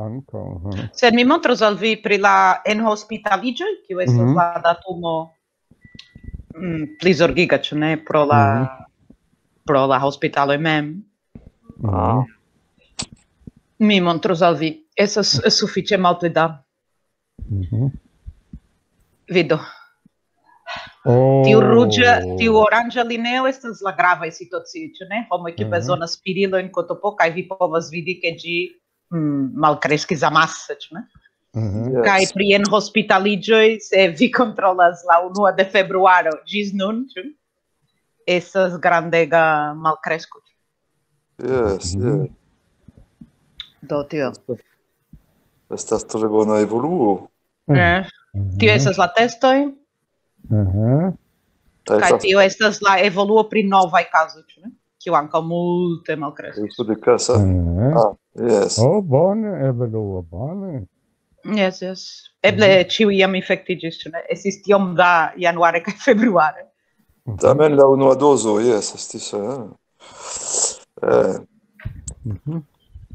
Ankaŭ. Mhm. Sed mi montros al vi pri la enhospitaliĝoj, kiu estas Mhm. la datumo mm, pli zorgiga, ĉu ne, pro la, pro la hospitaloj mem. Mhm. Mi montros al vi. Estas sufiĉe malpli da. Mhm. Vido. Oh. Tiu ruĝa, tiu oranĝa lineo estas la gravaj situacioj, ĉu ne? Homoj, kiu Mhm. bezonas spirilojn, kotopo, kaj vi povas vidi, ke ĝi mm, malkreskis amase, ĉu ne? Mhm. Yes. Kaj pri enhospitaliĝoj, se vi kontrolas la unua de februaro ĝis nun, ĉu? Estas grandega malkresko. Yes, Mhm. yes. Do tio. Estas tre bona evoluo. Eh, Tio estas la testoj, Mhm. kaj tio estas la evoluo pri novaj kazoj, ĉu ne? Kiu ankaŭ multe malkreskas. Esto de casa. Mhm. Ah, yes. Oh, bone, evoluo, bone. Yes, yes. Eble ĉiuj jam infektiĝis, ĉu ne? Estis tiom da januare kaj februare. Tamen la unua dozo, yes, estis. Eh. Eh, Mhm.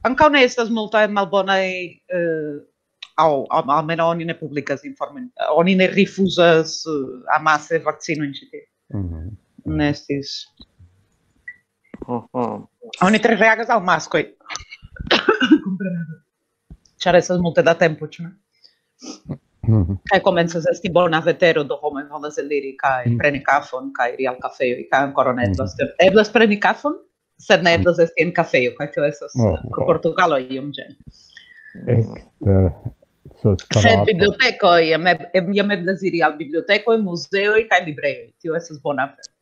Ankaŭ ne estas multaj malbonaj, eh, aŭ al- almenaŭ oni ne publikas informojn. Oni ne rifuzas eh, amase vakcinojn ĉi tie. Mhm. Ne estis. mhm. Oni tre reagas al maskoj. Kompreneble. Ĉar estas multe da tempo, ĉu ne? Mhm. Kaj komencas esti bona vetero, do homoj volas eliri kaj Mm. preni kafon, kaj iri al kafejoj, kaj ankoraŭ ne Mhm. eblas. Eblas preni kafon, sed ne eblas esti en kafejo, kaj tio estas Oh, pro Portugalo iom ĝen. Ekster Sed strato. Bibliotekoj, jam eb- em- jam eblas iri al bibliotekoj, muzeoj kaj librejoj. Tio estas bona afero.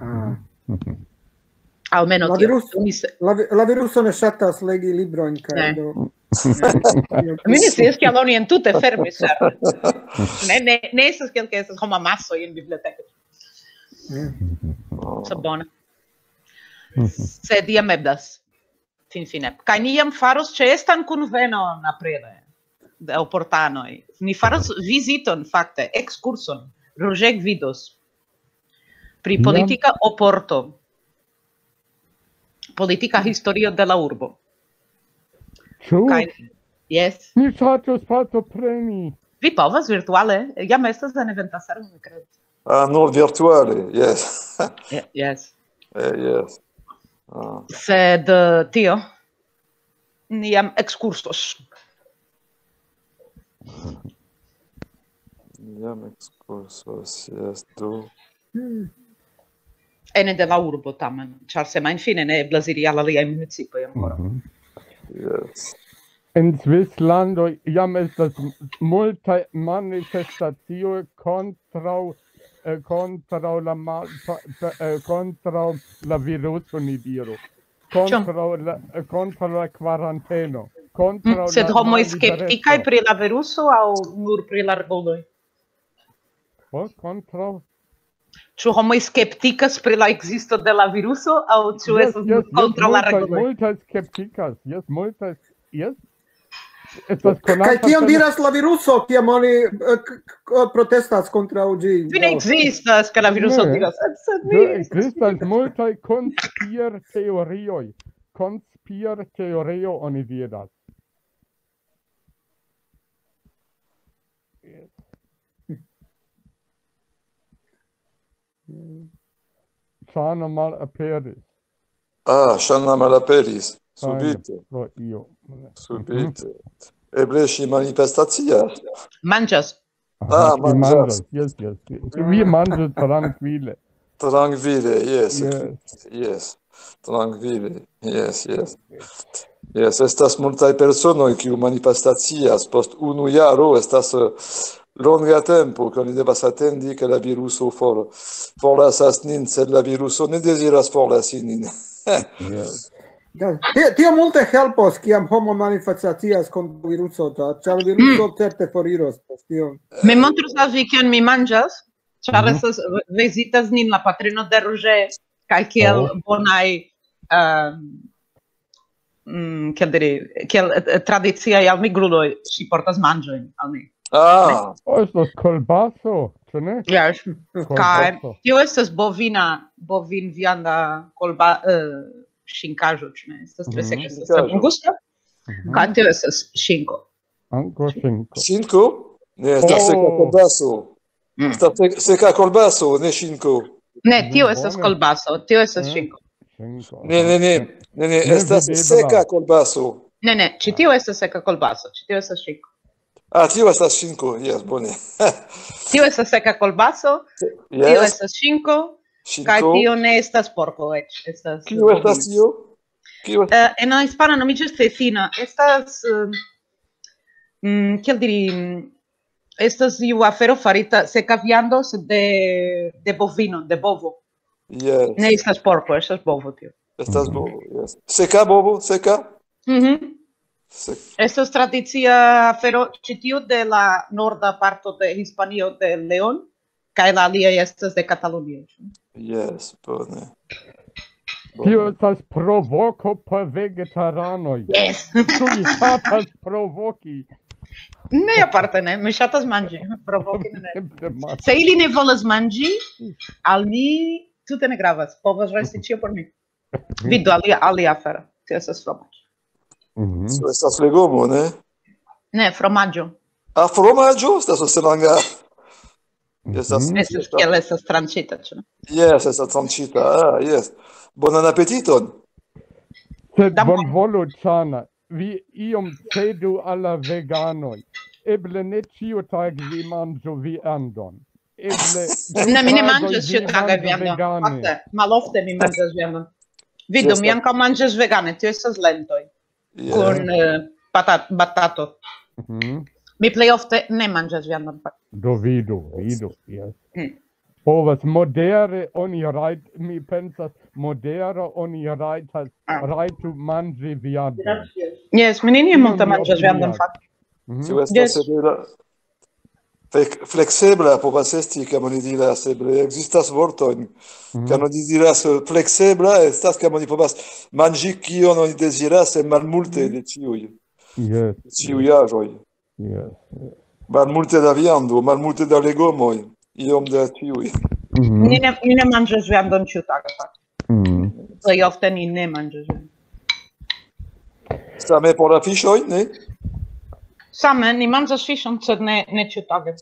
Ah. Mhm. Almenaŭ La tio. virus- Oni se- La, vi- la viruso ne ŝatas legi librojn kaj Ne. do. Mi ne scias, kial oni entute fermis, ĉar ne, ne, ne estas kiel ke estas homa maso en biblioteko. Eh, So bone. Mhm. Sed jam eblas. Finfine. Kaj ni jam faros ĉeestan kunvenon aprire de oportanoj. Ni faros viziton, fakte, ekskurson. Roger vidos. Pri Jam. Politika Oporto. Politika historio de la urbo. Ĉu? Kaj, yes. Mi ŝatus partopreni. Vi povas virtuale. Jam estas en eventa servo, mi kredas. Ah, no, virtuale, yes. Ye- Yes. Eh, yes. Ah, Sed eh, tio. Ni jam ekskursos. jam ekskursos, yes, do. Ene de la urbo tamen, ĉar semajnfine ne eblas iri al aliaj municipoj ankoraŭ. Mhm. Yes. En Svislando jam estas multaj manifestacioj kontraŭ eh, kontraŭ la mal, pa- pa- eh, kontraŭ la viruso, ni diru. Kontraŭ la, eh, kontraŭ la kvaranteno. Kontraŭ Mm, Sed la homoj mallibereco. Skeptikaj pri la viruso aŭ nur pri la reguloj? Oh, kontraŭ Ĉu homoj skeptikas pri la ekzisto de la viruso, aŭ ĉu estas kontraŭ la reguloj? Multaj skeptikas, jes, multaj, jes. Estas konata. Kaj kion diras la viruso, kiam oni, eh, k-, k-, protestas kontraŭ ĝi? Ĝi ne ekzistas, kaj la viruso diras, sed, sed ne ekzistas. Ekzistas multaj konspirteorioj. Konspirteorio oni diras. Ŝana malaperis. Ah, Ŝana malaperis. Subite. Pro io. Subite. Eble ŝi manifestacias. Manĝas. Ah, manĝas. Yes, yes. Vi manĝas trankvile. Trankvile, yes. Yes. Trankvile, yes, yes. Yes, estas multaj personoj, kiu manifestacias post unu jaro, estas, eh, longa tempo, ke oni devas atendi, ke la viruso for-, forlasas nin, sed la viruso ne deziras forlasi nin. Yes. Ja, ti-, tio multe helpos, kiam homo manifestacias kontraŭ viruso, ĉar, ĉar viruso certe foriros post tio. Mi montros al vi, kion mi manĝas, ĉar estas, vizitas nin la patrino de Roger, kaj kiel bonaj, ehm, mm, kiel diri, kiel, eh, tradiciaj almigruloj, ŝi portas manĝojn al ni. Ah. Oh, estas kolbaso, ĉu ne? Yes. Kaj tio estas bovina, bovinvianda kolba-, eh, ŝinkaĵo, ĉu ne? Estas tre seka, estas tre bongusta. Kaj tio estas ŝinko. Ankaŭ ŝinko. Ŝinko? Ne, estas seka kolbaso. Estas se-, seka kolbaso, ne ŝinko. Ne, tio estas kolbaso, tio estas ŝinko. Ne, ne, ne, ne, ne, estas seka kolbaso. Ne, ne, ĉi tio estas seka kolbaso, ĉi tio estas ŝinko. Ah, tio estas ŝinko, yes, bone. Tio estas seka kolbaso, tio estas ŝinko, kaj tio ne estas porko eĉ, estas... Kio estas tio? Kio? Eh, en la hispana nomiĝas cecina. Estas, eh, mm, kiel diri, mm, estas iu afero farita, seka viando, sed de, de bovino, de bovo. Yes. Ne estas porko, estas bovo tio. Estas bovo, yes. Seka bovo, seka? Mhm. Sek- Estas tradicia afero ĉi tiu de la norda parto de Hispanio, de León, kaj la aliaj estas de Katalunio. Yes, bone. Tio estas provoko por vegetaranoj. Yes. Ĉu vi ŝatas provoki? Ne, aparte ne. Mi ŝatas manĝi. Provoki ne. Se ili ne volas manĝi, al mi tute ne gravas. Povas resti ĉio por mi. Vidu alia, alia afero. Tio estas fromaĝo. Mhm. Tio estas legomo, ne? Ne, fromaĝo. Ah, fromaĝo? Estas stranga. Estas... Estas, kiel estas tranĉita, ĉu ne? Yes, estas tranĉita. Ah, yes. Bonan apetiton. Sed bonvolu, Ŝana, vi iom cedu al la veganoj. Eble ne ĉiutage vi manĝu viandon. Eble... Ne, mi ne manĝas ĉiutage viandon. Fakte, malofte mi manĝas viandon. Vidu, mi ankaŭ manĝas vegane, tio estas lentoj. Kun, eh, patat-, batato. Mhm. Mi plej ofte ne manĝas viandon, fakte. Do vidu, vidu, yes. Mm. Povas modere oni rajt-, mi pensas, modere oni rajtas, rajtu manĝi viandon. Yes, mi neniam multe manĝas viandon, fakte. Mhm. Tio estas severa. Flek-, fleksebla povas esti, kiam oni diras, eble ekzistas vortojn. Mhm. Kiam oni diras, eh, fleksebla, estas, kiam oni povas manĝi kion oni deziras, sed malmulte de ĉiuj. Yes. Ĉiuj aĵoj. Yes. Malmulte da viando, malmulte da legomoj, iom da ĉiuj. Mhm. Ni ne, ni ne manĝas viandon ĉiutage, fakte. Mhm. Plej ofte ni ne manĝas viandon. Same por la fiŝoj, ne? Same, ni manĝas fiŝon, sed ne, ne ĉiutage.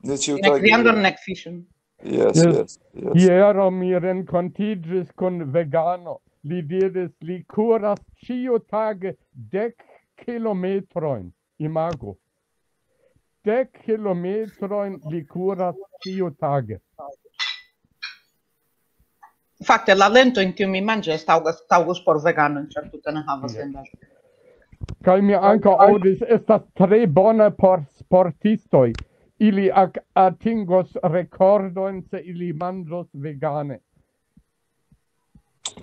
Ne ĉiutage. Nek viandon, nek fiŝon. Yes, yes, yes. Hieraŭ mi renkontiĝis kun vegano. Li diris, li kuras ĉiutage dek kilometrojn. Imagu. Dek kilometrojn li kuras ĉiutage. Fakte, la lentojn, kiujn mi manĝas, taŭgas, taŭgus por veganoj, ĉar tute ne havas... Yes. Lendaĵon. Kaj mi ankaŭ aŭdis, estas tre bona por sportistoj. Ili ak-, atingos rekordojn, se ili manĝos vegane.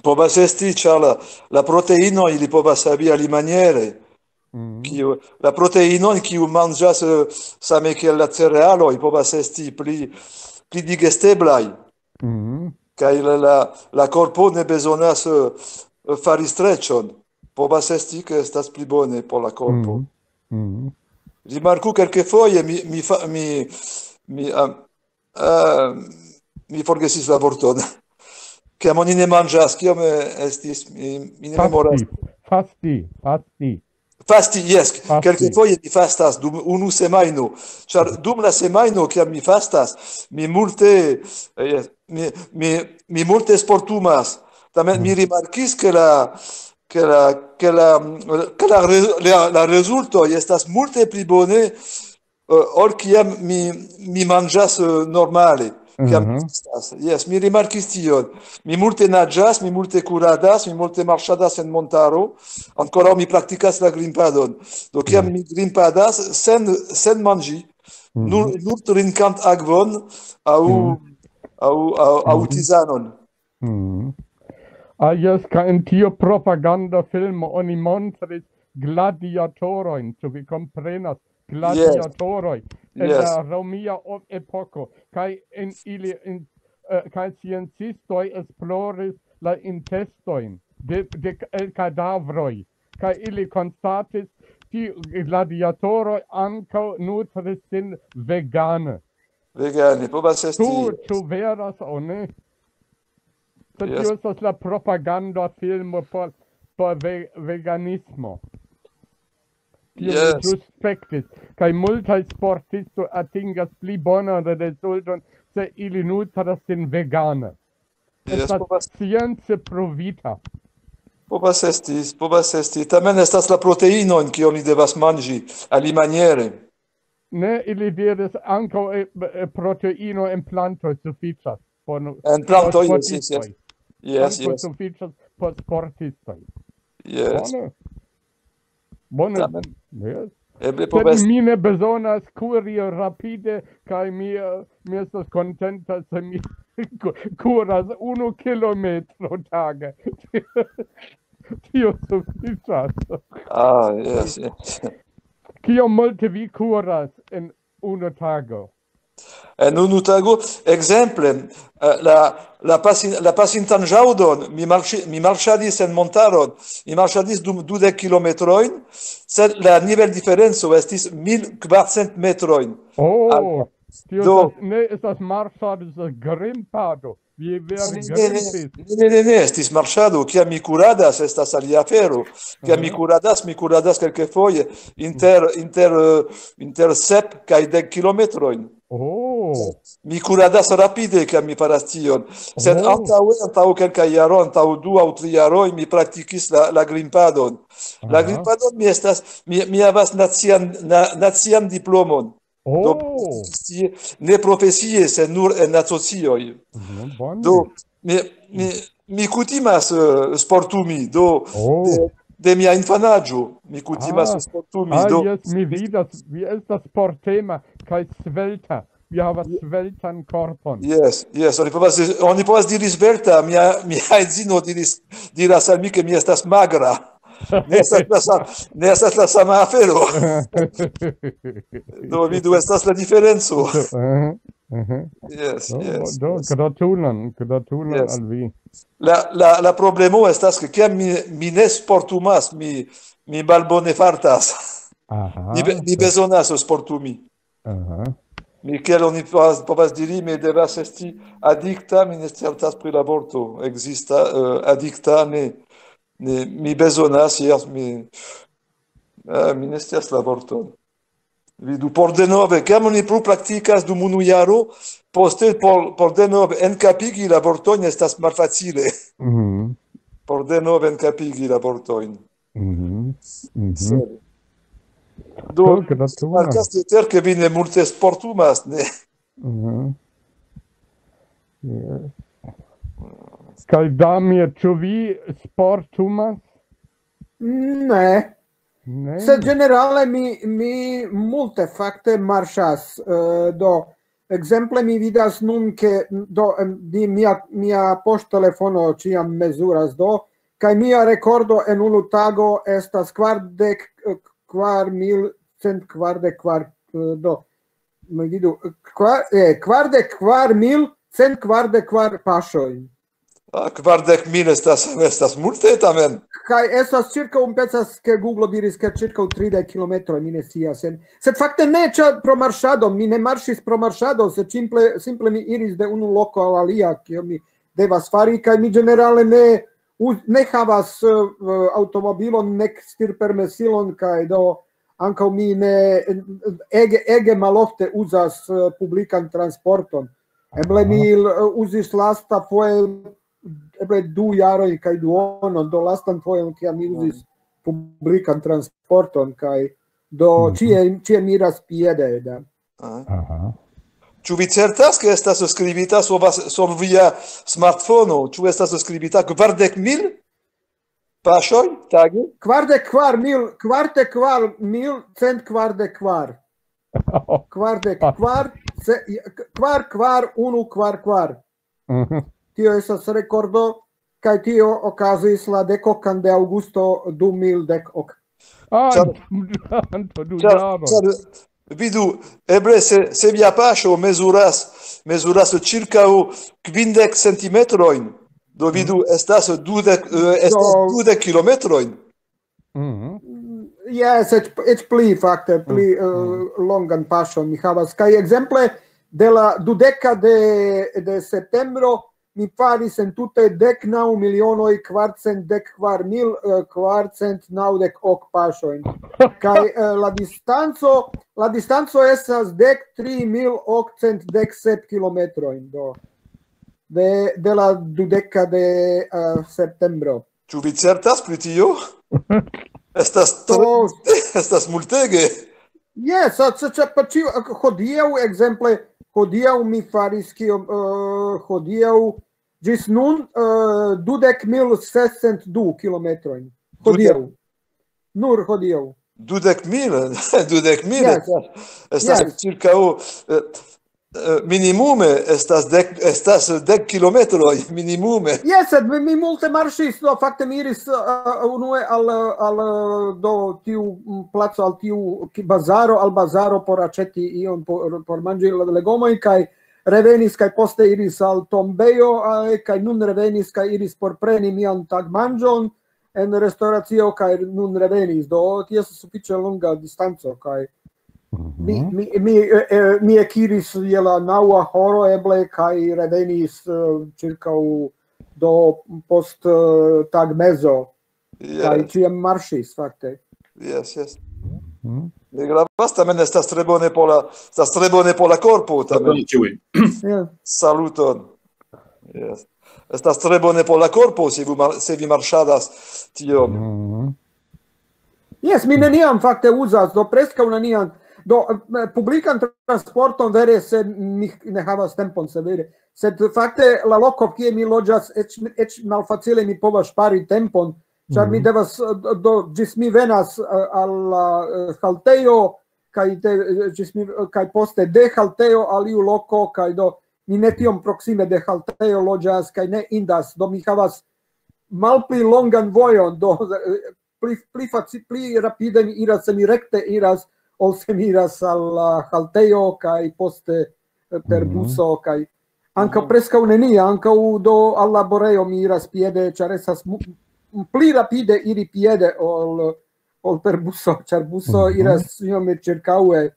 Povas esti, ĉar la, la proteinoj ili povas havi alimaniere. Mhm. Kiu, la proteinoj, kiu manĝas, eh, same kiel la cerealoj, povas esti pli, pli digesteblaj. Mhm. Kaj la, la, la korpo ne bezonas eh, fari streĉon. Povas esti, ke estas pli bone por la korpo. Mhm. Mhm. Rimarku, kelkfoje mi, mi, fa, mi, mi, uh, uh, mi forgesis la vorton. Kiam oni ne manĝas, kiam eh, estis, mi, mi ne memoras. Fasti, fasti, fasti. Fasti, jes, Fasti. Kelkfoje mi fastas dum unu semajno, ĉar dum la semajno, kiam mi fastas, mi multe, eh, jes, mi, mi, mi multe sportumas. Tamen mi rimarkis, ke la, ke la, ke la, ke la, re- la, la rezultoj estas multe pli bone eh, ol kiam mi, mi manĝas eh, normale. Kiam Mhm. Estas. Jes, mi rimarkis tion. Mi multe naĝas, mi multe kuradas, mi multe marŝadas en montaro. Ankoraŭ mi praktikas la grimpadon. Do kiam mi grimpadas sen, sen manĝi, nur, nur trinkant akvon aŭ, aŭ, aŭ, aŭ tizanon. Mhm. Ah, jes, kaj en tiu propaganda filmo oni montris gladiatorojn, ĉu vi komprenas? Gladiatoroj en Yes. La romia o- epoko, kaj en ili, en, eh, kaj sciencistoj esploris la intestojn de, de el kadavroj, kaj ili konstatis, tiu gladiatoroj ankaŭ nutris sin vegane. Vegane, povas esti. Ĉu, ĉu veras aŭ ne? Sed Yes. Tio estas la propaganda filmo por, por ve, veganismo. Tio Yes. Mi ĵus spektis. Kaj multaj sportistoj atingas pli bonan rezulton, se ili nutras sin vegane. Yes, Estas povas, science provita. povas esti, povas esti. Tamen estas la proteinojn, kion ni devas manĝi alimaniere. Ne, ili diris ankaŭ eh, eh, proteino en plantoj sufiĉas. Por, En plantoj, por yes, yes, yes. sportistoj. Yes, Ankaŭ yes. Sufiĉas por sportistoj. Yes. Bone. Bone. Tamen. Yes. Eble Sed povas. Mi ne bezonas kuri rapide, kaj mi, eh, mi estas kontenta, se mi ku- kuras unu kilometro tage. Tio sufiĉas. Ah, yes, yes. Kiom multe vi kuras en unu tago? En unu tago, ekzemple, eh, la, la, pasin, la pasintan ĵaŭdon mi, marŝi, mi marŝadis en montaron, mi marŝadis dum dudek kilometrojn, sed la niveldiferenco estis mil kvarcent metrojn. Oh, Al- tio do- estas, ne estas marŝado, estas grimpado. Vi vere Ne, ne, ne, grimpis. ne, ne, ne, ne, estis marŝado, kiam mi kuradas, estas alia afero. Kiam mi kuradas, mi kuradas kelkfoje inter, inter, eh, inter sep kaj dek kilometrojn. Oh, Mi kuradas rapide, kiam mi faras tion. Sed Oh. Antaŭe, antaŭ kelkaj jaroj, antaŭ du aŭ tri jaroj, mi praktikis la, la grimpadon. La Aha. Grimpadon mi estas, mi, mi havas nacian, na, nacian diplomon. Do, Oh, tie, ne profesie, sed nur en asocioj. Mhm, bone. Do, mi, mi, mi kutimas eh, sportumi, do Oh. de, de mia infanaĝo mi kutimas Ah. sportumi. Ah, Do, jes, mi vidas, vi estas sportema kaj svelta. Vi havas sveltan korpon. Yes, yes, oni povas, oni povas diri svelta, mia, mia edzino diris, diras al mi, ke mi estas magra. Ne estas la sa-, ne estas la sama afero. Do, vidu, estas la diferenco. Aha, aha. Yes, Do, yes, do, yes. Gratulan, gratulan Yes. al vi. La, la, la problemo estas, ke kiam mi, mi ne sportumas, mi, mi malbone fartas. Aha. Mi, be- mi bezonas sportumi. Aha. Mi, kiel oni povas, povas diri, mi devas esti adikta, mi ne certas pri la vorto. Ekzista, eh, adikta, ne, ne, mi bezonas, jes, mi, eh, mi ne scias la vorton. Vidu, por denove, kiam oni plu praktikas dum unu jaro, poste por, por denove enkapigi la vortojn estas malfacile. Mhm. Por denove enkapigi la vortojn. Mhm. Mhm. Sed. Do, Do, gratulas. Markas, ke vi ne multe sportumas, ne? Mhm. Yes. Kaj Damir, ĉu vi sportumas? Ne. Ne. Sed ĝenerale mi, mi multe fakte marŝas. Eh, do, ekzemple mi vidas nun, ke do, em, di, mia, mia poŝtelefono ĉiam mezuras, do, kaj mia rekordo en unu tago estas kvardek, eh, kvar mil cent kvardek kvar, eh, do, mi vidu, kvar, eh, kvardek kvar mil cent kvardek kvar paŝojn. Ah, kvardek mil estas, estas multe tamen. Kaj estas ĉirkaŭ, mi pensas, ke Google diris, ke ĉirkaŭ tridek kilometroj, mi ne scias. Sed fakte ne ĉar pro marŝado, mi ne marŝis pro marŝado, sed simple, simple mi iris de unu loko al alia, kio mi devas fari, kaj mi ĝenerale ne, ne havas uh, aŭtomobilon nek stirpermesilon, kaj do ankaŭ mi ne ege, ege malofte uzas uh, publikan transporton. Eble mi uh, uzis lasta foje eble du jaroj kaj duonon, do lastan fojon, kiam mi uzis publikan transporton, kaj do ĉie, ĉie miras piede. Da. Aha. Ĉu vi certas, ke estas skribita sur, sur via smartfono? Ĉu estas skribita kvardek mil paŝoj tage? Kvardek kvar mil, kvardek kvar mil cent kvardek kvar. Kvardek kvar, kvar, kvar, unu, kvar, kvar. Tio estas rekordo, kaj tio okazis la dekokan de aŭgusto du mil dek ok. Ah, Ĉar- antaŭ du Ĉar, jaroj. Ĉar, vidu, eble se, se via paŝo mezuras, mezuras ĉirkaŭ kvindek centimetrojn, do vidu, estas dudek, eh, estas Do- dudek kilometrojn. Mhm. Jes, eĉ, eĉ pli fakte, pli uh, longan paŝon mi havas. Kaj ekzemple de la dudeka de, de septembro mi faris entute dek naŭ milionoj kvarcent dek kvar mil kvarcent naŭdek ok paŝojn. Kaj uh, la distanco, la distanco estas dek tri mil okcent dek sep kilometrojn, do de, de la dudeka de uh, septembro. Ĉu vi certas pri tio? Estas tre, Do- estas multege. Jes, a- ĉe- ĉe- pa- ĉiu- hodiaŭ, ekzemple, hodiaŭ mi faris kiom, uh, hodiaŭ ĝis nun uh, dudek mil sescent du kilometrojn. Hodiaŭ. Nur hodiaŭ. Dudek mil, dudek mil Jes. estas, estas Jes. Ĉirkaŭ eh, eh, minimume estas dek, estas dek kilometroj minimume. Jes, sed mi, mi multe marŝis, do fakte mi iris uh, unue al, al uh, do tiu mm, placo, al tiu ki- bazaro, al bazaro por aĉeti ion por, por manĝi la legomojn, kaj revenis, kaj poste iris al tombejo, eh, kaj nun revenis, kaj iris por preni mian tagmanĝon en restoracio, kaj nun revenis. Do tio estas sufiĉe longa distanco, kaj mi, mi, mi, eh, eh, mi ekiris je la naŭa horo eble, kaj revenis eh, ĉirkaŭ do post eh, tagmezo, kaj Jes, ĉiam marŝis fakte. jes, jes. Mhm. Ne gravas, tamen estas tre bone por la, estas tre bone por la korpo, tamen. Saluton ĉiuj. Ja. Saluton. Jes. Estas tre bone por la korpo, se vi, mar, se vi marŝadas tiom. Mhm. Jes, mi neniam fakte uzas, do preskaŭ neniam. Do eh, publikan transporton vere, se mi ne havas tempon severe. Sed fakte la loko, kie mi loĝas, eĉ, eĉ malfacile mi povas ŝpari tempon, ĉar mi Mhm. devas, eh, do ĝis mi venas eh, al la eh, haltejo, kaj, de, eh, ĝis mi, kaj poste de haltejo al iu loko, kaj do mi ne tiom proksime de haltejo loĝas, kaj ne indas, do mi havas malpli longan vojon, do eh, pli, pli, faci, pli rapide mi iras, se mi rekte iras, ol se mi iras al la haltejo, kaj poste eh, per Mhm. buso, kaj ankaŭ preskaŭ nenia, ankaŭ do al laborejo mi iras piede, ĉar estas mu- pli rapide iri piede ol, ol per buso, ĉar buso Mhm. iras iome ĉirkaŭe.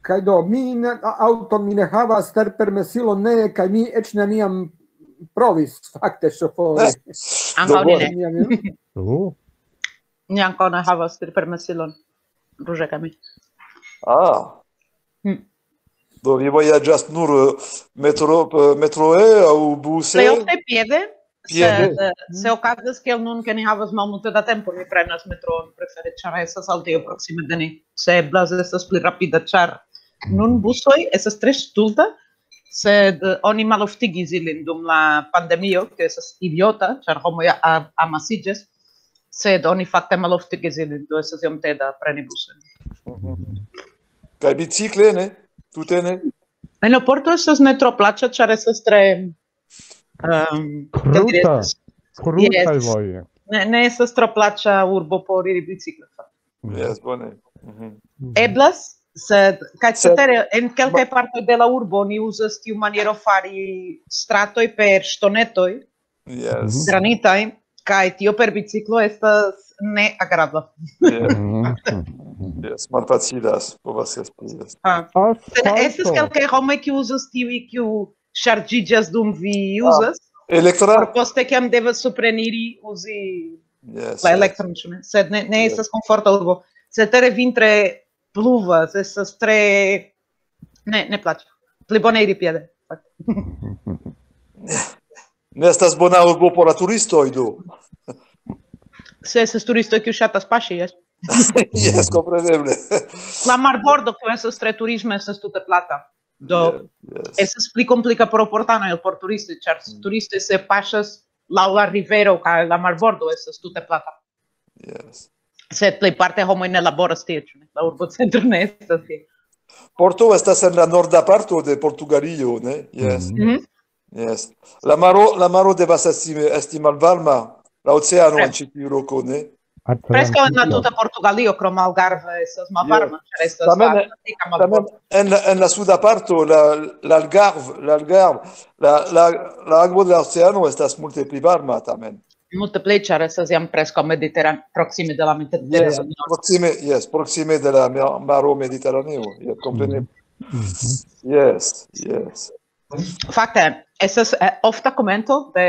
Kaj do, mi ne, a- aŭton mi ne havas, tirpermesilon ne, kaj mi eĉ neniam provis fakte ŝofori. Ankaŭ ni ne. Neniam. Oh. Ni ankaŭ ne havas tirpermesilon. Ruĝa kaj mi. Ah. Hmm. Do vi vojaĝas nur eh, metro, eh, metroe aŭ buse? Plej ofte piede, Piede. sed eh, se okazas kiel nun, ke ni havas malmulte da tempo, ni prenas metroon prefere, ĉar estas haltejo proksime de ni. Se eblas, estas pli rapida, ĉar nun busoj estas tre stulta, sed eh, oni maloftigis ilin dum la pandemio, ke estas idiota, ĉar homoj a- amasiĝas, sed oni fakte maloftigis ilin, do estas iom teda preni busojn. Kaj bicikle, ne? Tute ne? Aeroporto estas ne tro plaĉa, ĉar estas tre um, Kruta. Krutaj Jes. Voje. Ne, ne estas tro plaĉa urbo por iri bicikle. Jes, bone. Mhm. Eblas, Sed, kaj cetere, en kelkaj partoj de la urbo oni uzas tiu maniero fari stratoj per ŝtonetoj, Yes. granitaj, kaj tio per biciklo estas neagrabla. Yes. Yes, malfacilas, povas esti. Yes. Ah. Sed estas kelkaj homoj, kiu uzas tiuj, kiu ŝarĝiĝas dum vi uzas. Elektra? Por poste, kiam devas supreniri, uzi Yes. la elektron, ĉu ne? Sed ne, ne Yes. estas komforta urbo. Cetere vintre pluvas, estas tre... Ne, ne plaĉas. Pli bone iri piede. Ne estas bona urbo por la turistoj, do. Se estas turistoj, kiu ŝatas paŝi, jes. Yes, kompreneble. La marbordo, kiu estas tre turisma, estas tute plata. Do, Yes. estas pli komplika por portanoj ol por turistoj, ĉar turistoj, se paŝas laŭ la rivero, kaj la marbordo estas tute plata. Yes. Sed plejparte homoj ne laboras tie, ĉu ne? La urbocentro ne estas tie. Porto estas en la norda parto de Portugalio, ne? Yes. Mhm. Yes. La maro, la maro devas esti, esti malvarma. La oceano Tre. En ĉi tiu loko, ne? Preskaŭ en la tuta Portugalio, krom Algarve, estas malvarma, ĉar estas Tamen, la Atlantika tamen marbordo. En la, en la suda parto, la, la Algarve, la Algarve, la, la, la akvo de la oceano estas multe pli varma, tamen. Multe pli, ĉar estas jam preskaŭ Mediteran-, proksime de la Mediterano. Yes, proksime, yes, proksime de la ma-, maro Mediteraneo. Yes, kompreneble. Yes, yes. Fakte, estas eh, ofta komento de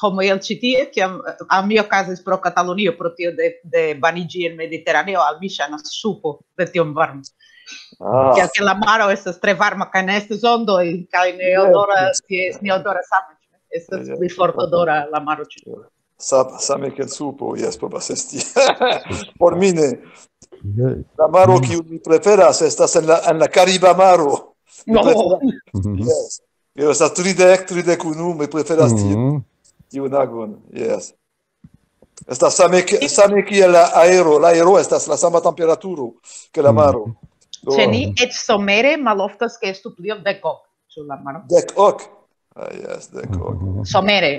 homoj el ĉi tie, kiam eh, al mi okazis pro Katalunio, pro tio de, de baniĝi en Mediteraneo, al mi ŝajnas supo de tiom varmo. Ah, Kiel ke la maro estas tre varma, kaj ne estas ondoj, kaj ne Yes, odoras, yes. Yes, ne odoras same. Estas Yes. Pli fortodora la maro ĉi. Sa-, same kiel supo, yes, povas esti. Por mi ne. Yes. La maro, kiu mi preferas, estas en la, en la Kariba maro. No. Yes. Tio estas tridek, tridek unu, mi preferas tiu, Mhm. tiun akvon. Yes. Estas same, ki- same kiel la aero. La aero estas la sama temperaturo ke la maro. Do, Ĉe ni eĉ somere maloftas, ke estu pli ol dek ok. Ĉu la maro? Dek ok. Ah, yes, dek ok. Somere.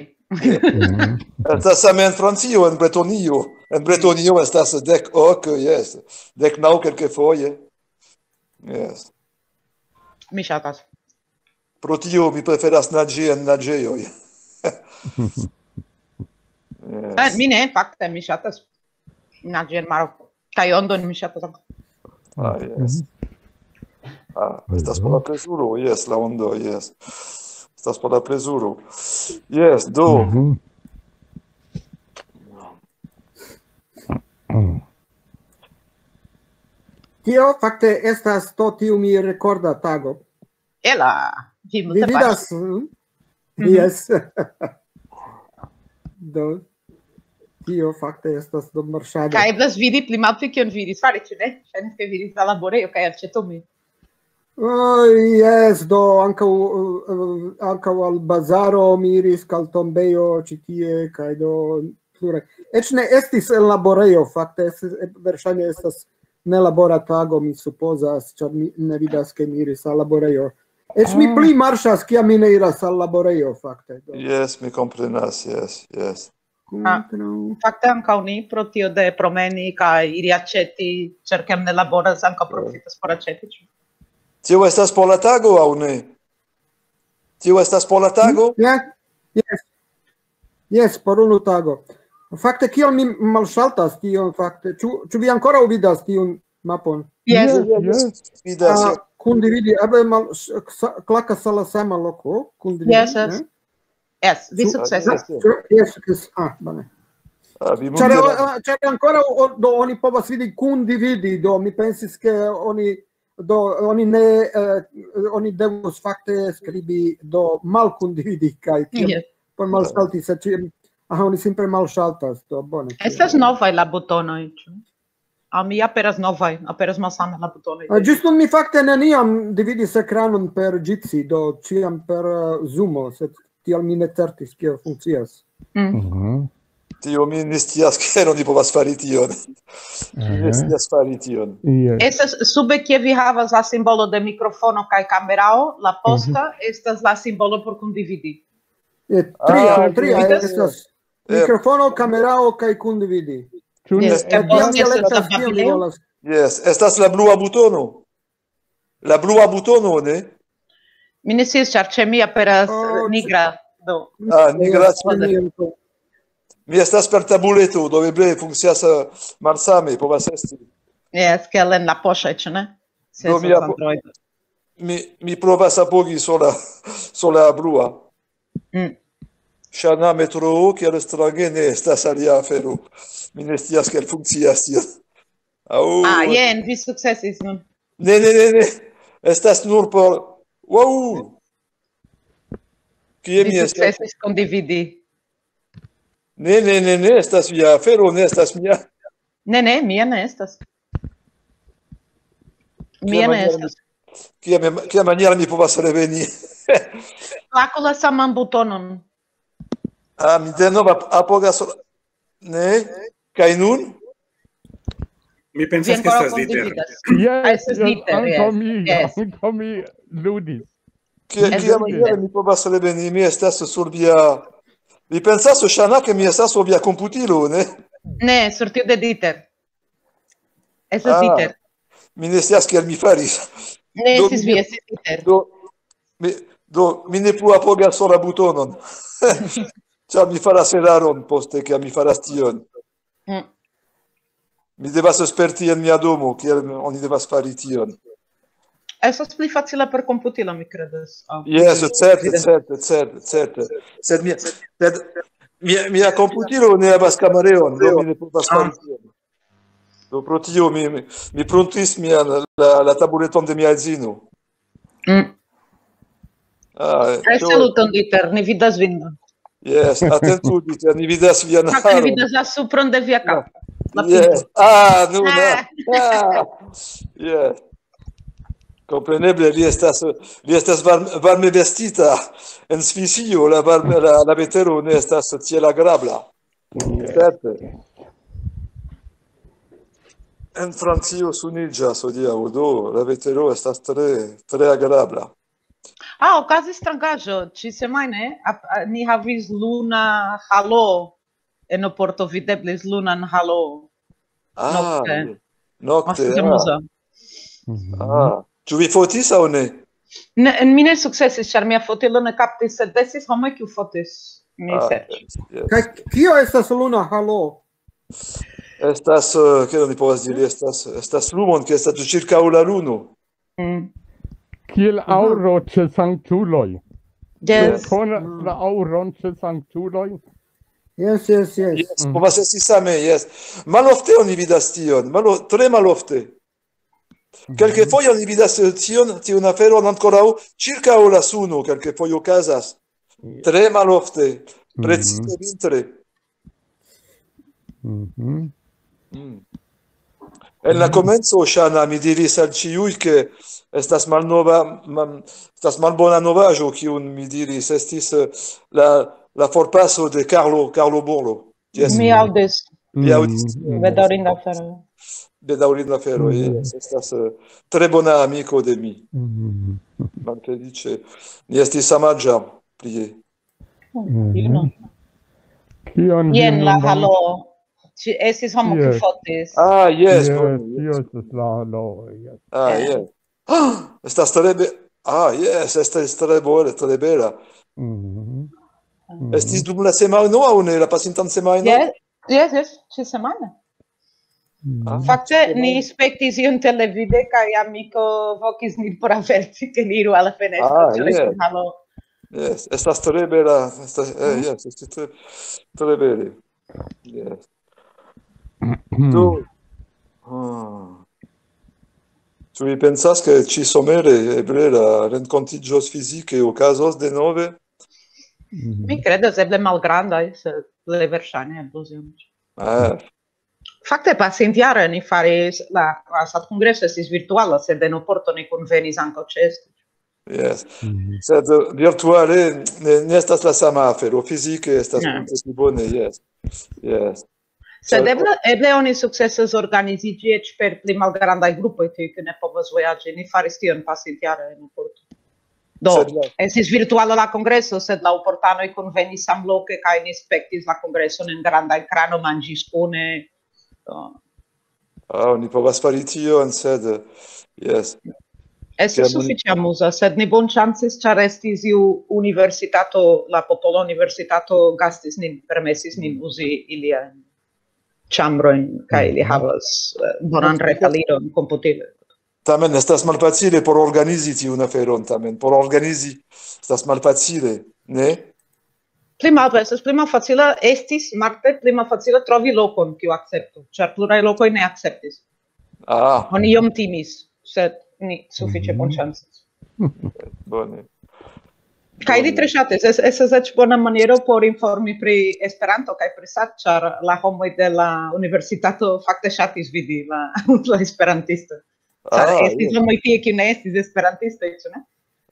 Estas same en Francio, en Bretonio. En Bretonio estas dek ok, yes. Dek naŭ kelkfoje. Yes. Mi ŝatas. Pro tio mi preferas naĝi en naĝejoj. Eh, Mi ne, fakte, mi ŝatas naĝi en maro. Kaj ondon mi ŝatas ankaŭ. Ah, yes. Ah, estas por la plezuro, yes, la ondo, yes. Estas por la plezuro. Yes, do. Mhm. Tio fakte estas to tiu mi rekorda tago. Ela, vi Vi multe vidas? paŝis. Mm? Yes. Do, tio fakte estas do marŝado. Kaj eblas vidi pli malpli kion vi iris fari, ĉu ne? Ŝajnis, ke vi iris al laborejo kaj aĉetumi. Oh, yes, do ankaŭ, eh, ankaŭ al bazaro mi iris, kaj al tombejo ĉi tie, kaj do plure. Eĉ ne estis en laborejo, fakte estis, eh, verŝajne estas nelabora tago, mi supozas, ĉar mi ne vidas, ke mi iris al laborejo. Eĉ mi pli marŝas, kiam mi ne iras al laborejo, fakte. Do, Yes, mi komprenas, yes, yes. kontraŭ- Fakte ankaŭ ni, pro tio de promeni kaj iri aĉeti, ĉar kiam ne laboras, ankaŭ profitas por aĉeti, ĉu? Tio estas por la tago aŭ ne? Tio estas por la tago? Ja, yes. Yes, por unu tago. Fakte, kiel mi malŝaltas tion, fakte? Ĉu, ĉu vi ankoraŭ vidas tiun mapon? Yes. Yes. Vidas. Ah, kundividi, eble mal, s-, sa-, klakas al la sama loko, kundividi, Yes, yes. Ne? Yes, vi Ĉu- sukcesas. Yes. Ĉu, yes, yes. Ah, bone. Ah, vi Ĉar, multe- eh, ĉar ankoraŭ o-, do oni povas vidi kundividi, do mi pensis, ke oni, do oni ne, eh, oni devus fakte skribi, do malkundividi, kaj tiel Yes. por malsalti, se ĉiam, aha, oni simple malsaltas, do bone. Estas novaj la butonoj, ĉu? Al mi aperas novaj, aperas malsame la butonoj. Ah, ĝis nun mi fakte neniam dividis ekranon per Jitsi, do ĉiam per, eh, Zoomo, sed tial mi ne certis, kiel funkcias. Mm. Mhm. Tio mi ne scias, ke oni povas fari tion. Mi ne Aha. scias fari tion. Yes. Estas sube, kie vi havas la simbolo de mikrofono kaj kamerao, la posta estas la simbolo por kundividi. Eh, tria, Ah, tria yes. estas. Eh. Mikrofono, kamerao kaj kundividi. Ĉu ne? Yes. Eh, tiam mi elektas, kion mi volas. Yes, estas la blua butono. La blua butono, ne? Mi ne scias, ĉar ĉe mi aperas Oh, nigra. Do. Ah, nigra Yes, ĉe mi. Mi estas per tabuleto, do eble funkcias eh, malsame, povas esti. Yes, kiel en la poŝoj, ĉu ne? Se Do estas mi apo- Android. Mi, mi provas apogi sur la, sur la blua. Mm. Ŝana metroo, kiel strange, ne estas alia afero. Mi ne scias kiel funkcias tio. Aŭ, Ah, jen, vi sukcesis nun. Ne, ne, ne, ne. Estas nur por... Wow! Kie Vi mi estas? Sukcesis kondividi. Ne, ne, ne, ne, estas via afero, ne estas mia. Ne, ne, mia ne estas. Mia ne estas. Kia, kia maniera mi povas reveni? Klaku la saman butonon. Ah, mi denove ap- apogas... Ne? Kaj nun? Mi pensas, Vi ke ankoraŭ estas Dieter. Kondividas. Yes, Ah, estas yes, Dieter, ankaŭ yes, mi, yes. Ankaŭ mi ludis. Kia, Yes, kia yes. Maniera mi povas reveni? Mi estas sur via... Mi pensas, Ŝana, ke mi estas sur via komputilo, ne? Ne, sur tiu de Dieter. Estas Ah. Dieter. Mi ne scias kiel mi faris. Ne Do, estis mi vi, ne- estis Dieter. Do, mi, do, mi ne plu apogas sur la butonon. Ĉar mi faras eraron poste, kiam mi faras tion. Mm. Mi devas sperti en mia domo, kiel oni devas fari tion. Estas pli facila per komputilo, mi kredas. Oh. Yes, certe, certe, certe, certe. Sed mia, sed mia, mia komputilo ne havas kamereon, do mi ne povas Ah. fari tion. Do pro tio mi, mi, mi pruntis mian, la, la tabuleton de mia edzino. Mm. Ah, Kaj tio- saluton, Dieter, ni vidas vin. Yes, atentu, Dieter, ni vidas vian Fakte, ni haron. Vidas la supron de via kapo. La Yes. pinto. Ah, no, no. Ah. Ah. Yes. Kompreneble, li estas, li estas varm-, varme vestita. En Svisio la, varme, la, la vetero ne estas tiel agrabla. Certe. En Francio suniĝas hodiaŭ, do la vetero estas tre, tre agrabla. Ah, okazis strangaĵo. Ĉi semajne ap-, a-, ni havis luna halo. En Oporto videblis lunan halo. Ah, Nokte. Nokte, Estis ah. Amuza. Ah. Ĉu vi fotis aŭ ne? Ne, mi ne sukcesis, ĉar mia fotilo ne kaptis, sed estis homoj, kiu fotis. Mi Ah, serĉis. Yes. Kaj kio estas luna halo? Estas, eh, kiel oni povas diri, estas, estas lumon, kiu estas ĉirkaŭ la luno. Mm. Kiel aŭro ĉe sanktuloj. Yes. Konas la aŭron ĉe sanktuloj? Yes, yes, yes. Yes, povas esti same, yes. Malofte oni vidas tion, malo, tre malofte. Kelkfoje oni vidas eh, tion, tiun aferon ankoraŭ ĉirkaŭ la suno, kelkfoje okazas. Tre malofte, precize vintre. Mhm. Mm. En la komenco, Ŝana, mi diris al ĉiuj, ke estas malnova, mal, estas malbona novaĵo, kiun mi diris, estis eh, la, la forpaso de Carlo, Carlo Borlo. Yes. Mi aŭdis. Mi aŭdis. Bedaŭrinda afero. Bedaŭrinda afero, Mm. Yes, estas eh, tre bona amiko de mi. Mhm. Malfeliĉe. Ni estis samaĝa plie. Fino. Kion vi Jen la nun halo. Ĉi estis homo, kiu Yes. fotis. Ah, yes, Yes, bone, yes. Yes, la halo, yes. Ah, yes. Ah, estas tre be... Ah, yes, estas tre bone, tre bela. Mhm. Estis dum la semajno aŭ ne, la pasintan semajnon? Yes, yes, yes, ĉi semajne. Mhm. Ah, Fakte, ĉi semajno. Ni spektis iun televide, kaj amiko vokis nin por averti, ke ni iru al la fenestro, Ah, ĉar yes. estis halo. Yes, estas tre bela. Estas, eh, yes, estas tre, tre bele. Yes. Do, ah. Ĉu vi pensas, ke ĉi somere eble la renkontiĝoj fizike okazos denove? Mhm. Mi kredas, eble malgrandaj, sed plej verŝajne eblos iom. Ah, Fakte, pasintjare ni faris, la, la SAT-kongreso estis virtuala, sed en Oporto ni kunvenis ankaŭ ĉeesto. Yes. Mhm. Sed eh, virtuale ne, ne estas la sama afero. Fizike estas Ne. multe pli bone, yes. Yes. Sed Ĉar- eble, eble oni sukcesas organiziĝi eĉ per pli malgrandaj grupoj, tiuj, kiuj ne povas vojaĝi. Ni faris tion pasintjare en Oporto. Do, Sed la- estis virtuala la kongreso, sed la oportanoj kunvenis samloke kaj ni spektis la kongreson en granda ekrano, manĝis kune. Do, Ah, oni povas fari tion, sed, yes. Estis sufiĉe amuza, sed ni bonŝancis, ĉar estis iu universitato, la Popola Universitato gastis nin, permesis nin uzi iliajn ĉambrojn, kaj ili havas, eh, bonan retaliron, komputilon. Tamen estas malfacile por organizi tiun aferon, tamen por organizi estas malfacile, ne? Pli malfacile, estis pli malfacile, estis marde pli malfacile trovi lokon, kiu akceptu, ĉar pluraj lokoj ne akceptis. Ah, Oni iom timis, sed ni sufiĉe bonŝancis. Bone. Kaj li tre ŝatis, es-, estas eĉ bona maniero por informi pri Esperanto kaj pri sat, ĉar la homoj de la universitato fakte ŝatis vidi la, la esperantisto. Ĉar Ah, estis homoj tie, kiu ne estis esperantistoj, ĉu ne?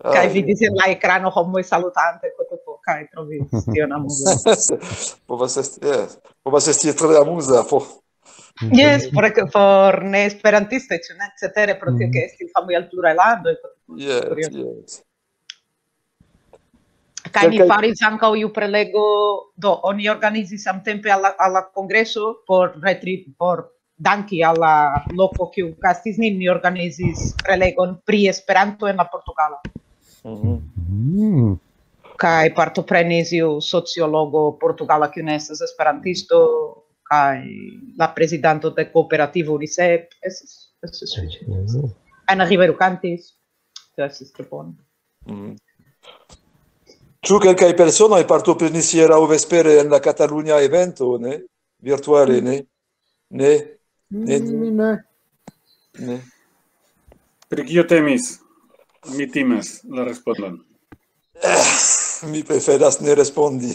Kaj vidis en la ekrano homoj salutante, kotopo, kaj trovis tion amuza. Povas esti, yes. Povas esti tre amuza. Po... Yes, por, por ne esperantistoj, ĉu ne? Cetere pro tio, ke estis homoj el pluraj landoj, kotopo. Yes, yes. Kaj ni faris ankaŭ iu prelego, do oni organizis samtempe al la, al la kongreso por retri-, por danki al la loko, kiu kastis nin, ni organizis prelegon pri Esperanto en la portugala. Mhm. Mm. Kaj partoprenis iu sociologo portugala, kiu ne estas esperantisto, kaj la prezidanto de kooperativo UNICEF, estis, estis sufiĉe. Mhm. Ana Ribeiro kantis, tio estis tre bone. Mhm. Ĉu kelkaj personoj partoprenis hieraŭ vespere en la Katalunia evento, ne? Virtuale, ne? Ne? Ne, Mi ne. Ne. Pri kio temis? Mi timas la respondon. Mi preferas ne respondi.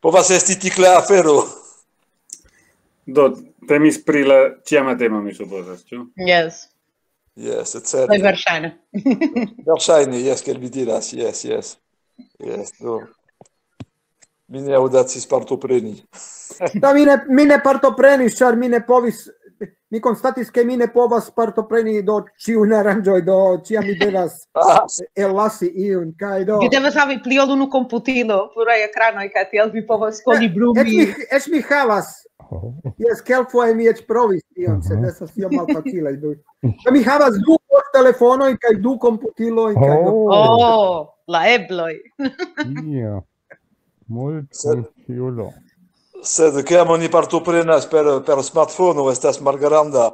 Povas esti tikla afero. Do, temis pri la ĉiama temo, mi supozas, ĉu? Yes. Yes, Plej certe. Verŝajne. Verŝajne, yes, kiel vi diras, yes, yes. Yes, do. Mi ne aŭdacis partopreni. Da, mi ne, mi ne partoprenis, ĉar mi ne povis, mi konstatis, ke mi ne povas partopreni do ĉiun aranĝoj, do ĉiam mi devas ellasi iun, kaj do... Vi devas havi pli ol unu komputilo, pluraj ekranoj, kaj tiel vi povas Eĉ kolibrumi. mi, eĉ mi havas. Jes, kelkfoje mi eĉ provis tion, sed estas iom malfacile. Do, do mi havas du telefonoj kaj du komputiloj, kaj do... Oh, Oh, la ebloj. Ja. Sed- Multfunkciulo. Sed kiam oni partoprenas per, per smartfono, estas malgranda.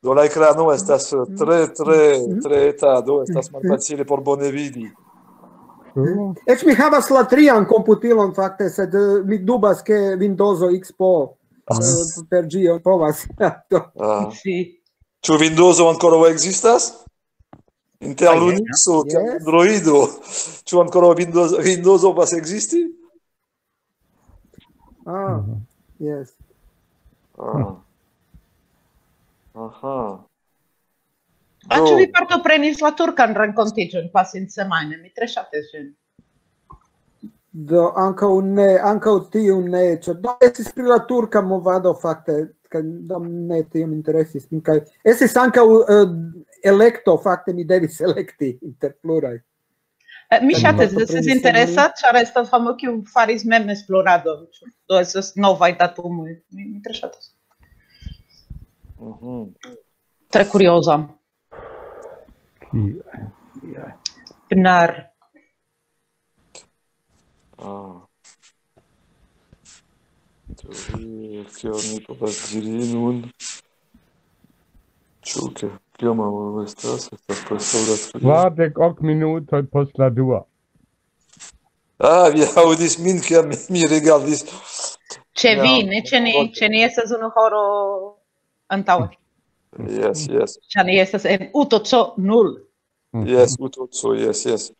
Do la ekrano estas tre, tre, tre eta, do estas malfacile por bone vidi. Oh, Eĉ mi havas la trian komputilon, fakte, sed eh, mi dubas, ke Windowso X P O eh, per ĝi povas. Do, Ah. Sì. Ĉu Windowso ankoraŭ ekzistas? Inter Ah, yes. Linuxo, inter Yes. Androido. Ĉu ankoraŭ Windows, Windowso povas ekzisti? Ah, yes. Ah. Aha. Ah, ĉu Do, vi partoprenis la turkan renkontiĝon pasinsemajne? Mi tre ŝatis ĝin. Do, ankaŭ ne, ankaŭ tiu ne, ĉar do estis pri la turka movado, fakte, kaj do ne tiom interesis min, kaj estis ankaŭ eh, elekto, fakte mi devis elekti inter pluraj. Eh, Mi Kaj ŝatis, partoprenis estis en interesa, ĉar estas homo, kiu faris mem esploradon. Do estas novaj datumoj. Mi, mi tre ŝatas. Mhm. Tre kurioza. Ki- Bnar. Ah. Teorie, kion mi povas diri nun? Ĉu ke, kiom horo estas? Estas preskaŭ la tria. Kvardek ok minutoj post la dua. Ah, vi aŭdis min, kiam mi, mi rigardis. Ĉe Ja. Vi, ne ĉe ni, ĉe ni estas unu horo antaŭe. Yes, yes. Ĉar ni estas en Utoco nul. Yes, Utoco, yes, yes.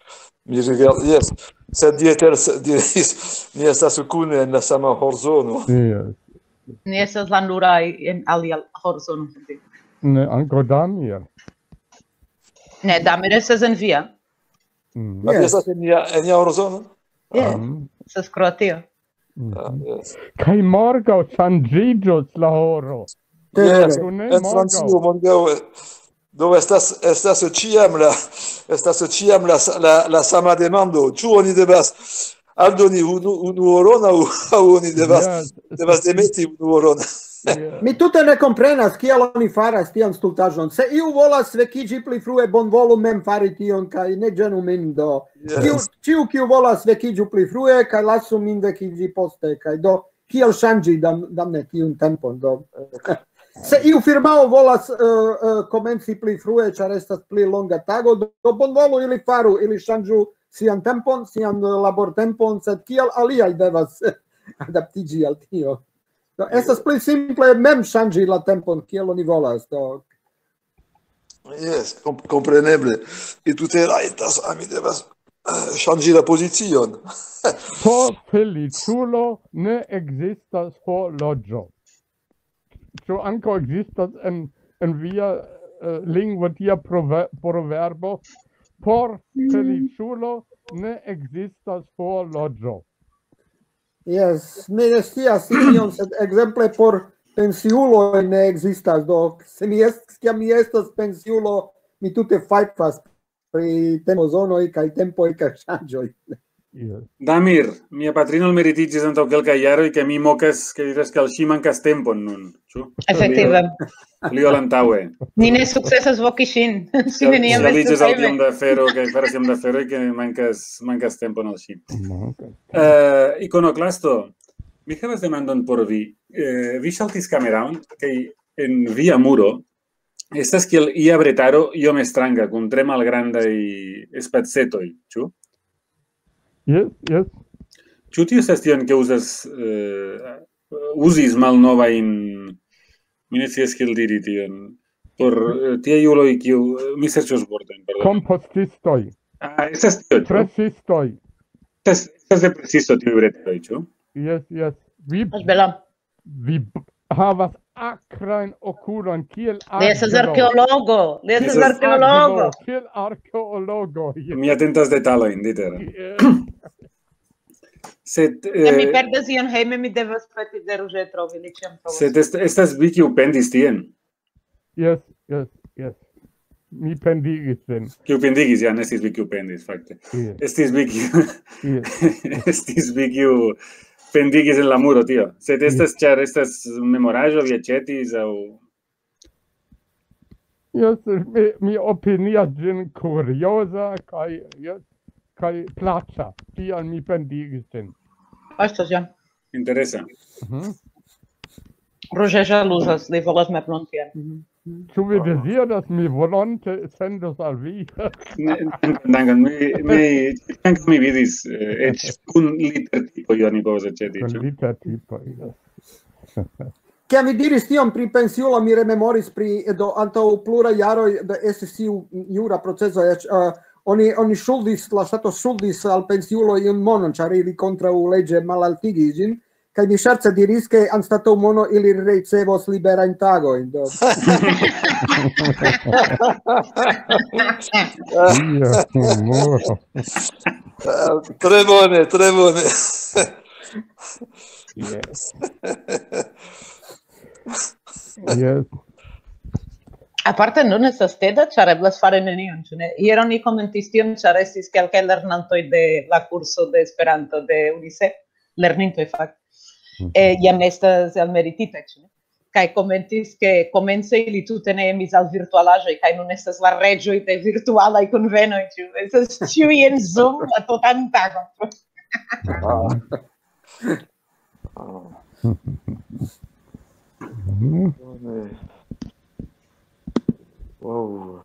Mi rigard, yes. Sed Dieter s-, diris, ni estas kune en la sama horzono. Yes. Ni estas la nuraj en alia horzono. Ne, ankaŭ Damir. Ne, Damir estas en via. Mm. Yes. Yes. Estas en nia, en nia horzono? Yes, Mm. estas Kroatio. Mm. Ah, yes. Kaj morgaŭ ŝanĝiĝos la horo. Vere. Yes, Ĉu ne en morgaŭ? Francio morgaŭ, eh, do estas, estas ĉiam la, estas ĉiam la, la, la sama demando. Ĉu oni devas aldoni unu, unu horon aŭ, aŭ oni devas, Yes. devas demeti unu horon? Mi tute ne komprenas, kial oni faras tian stultaĵon. Se iu volas vekiĝi pli frue, bonvolu mem fari tion, kaj ne ĝenu min do. Kiu, ĉiu, kiu volas vekiĝu pli frue, kaj lasu min vekiĝi poste, kaj do, kiel ŝanĝi, dam-, damne, tiun tempon, do. Se iu firmao volas, eh, eh, komenci pli frue, ĉar estas pli longa tago, do, do bonvolu ili faru, ili ŝanĝu sian tempon, sian, eh, labortempon, sed kial aliaj devas adaptiĝi al tio? Do, estas pli simple mem ŝanĝi la tempon, kiel oni volas, do. Jes, kom-, kompreneble. I tute rajtas, a mi devas, eh, ŝanĝi la pozicion. Por feliĉulo ne ekzistas horloĝo. Ĉu ankaŭ ekzistas en, en via, eh, lingvo tia prove-, proverbo? Por feliĉulo ne ekzistas horloĝo. Jes, mi ne scias tion, sed ekzemple por pensiuloj ne ekzistas. Do, se mi est-, kiam mi estas pensiulo, mi tute fajfas pri tempozonoj kaj tempoj kaj ŝanĝoj. Jes. Damir, mia patrino meritiĝis antaŭ kelkaj jaroj, ke mi mokas, ke diras, ke al ŝi mankas tempon nun, ĉu? Efektive. Pli ol antaŭe. Ni ne sukcesas voki ŝin. Ŝi neniam estos hejme. Tiom da afero, kaj faras tiom da aferoj, ke mankas, mankas tempon al ŝi. Mankas. Eh, ikonoklasto, mi havas demandon por vi. Eh, vi ŝaltis kameraon, kaj en via muro estas kiel ia bretaro iom stranga, kun tre malgrandaj spacetoj, ĉu? Jes, jes. Ĉu tio estas tion, ke uzas, eh, uzis malnovajn, mi ne scias kiel diri tion, por, eh, tiaj uloj, kiu, eh, mi serĉos vortojn, pardon. Kompostistoj. Ah, estas tio, ĉu? Presistoj. Estas, estas de presisto tiuj bretoj, ĉu? Jes, jes. Vi Estas bela. Vi b-, havas akrajn okulojn, kiel Li estas arkeologo. Li estas arkeologo. Kiel arkeologo. Mi atentas detalojn, Dieter. Sed, se mi, eh, perdas ion hejme, mi devas peti de Ruĝe trovi, li ĉiam trovos. Sed est-, estas vi, kiu pendis tien? Jes, jes, jes. Mi pendigis vin. Kiu pendigis, ja, ne estis vi, kiu pendis, fakte. Jes. Estis vi, kiu, jes, estis vi, kiu pendigis en la muro, tio. Sed estas, jes, ĉar estas memoraĵo, vi aĉetis, aŭ? Jes, mi, mi opinias ĝin kurioza kaj, jes, kaj plaĉa. Tial mi pendigis ĝin. Estas, ja. Interesa. Mhm. Ruĝe ĵaluzas, li volas meblon tien. Ĉu vi deziras? Mi volonte sendos al vi. Ne, dankon, dankon. Mi, mi, ankaŭ mi vidis, eh, eĉ kun litertipoj oni povas aĉeti, kun ĉu? Litertipoj, jes. Kiam vi diris tion pri pensiulo, mi rememoris pri, do, antaŭ pluraj jaroj, do, estis tiu jura proceso, eĉ, eh, oni, oni ŝuldis, la ŝtato ŝuldis al pensiulo iun monon, ĉar ili kontraŭleĝe malaltigis ĝin, kaj mi ŝerce diris, ke anstataŭ mono ili ricevos liberajn tagojn, do. Dio, humoro. Ah, tre bone, tre bone. Jes. Jes. Aparte, nun estas teda, ĉar eblas fari nenion, ĉu ne? Hieraŭ ni komentis tion, ĉar estis kelkaj lernantoj de la kurso de Esperanto de UNICEF, lernintoj, fakte. Mhm. Eh, jam estas elmerititaj, ĉu ne? Kaj komentis, ke komence ili tute ne emis al virtualaĵoj, kaj nun estas la reĝoj de virtualaj kunvenoj, ĉu? Estas ĉiuj en Zoom la tutan tagon. Ah. Ah. Bone. Wow.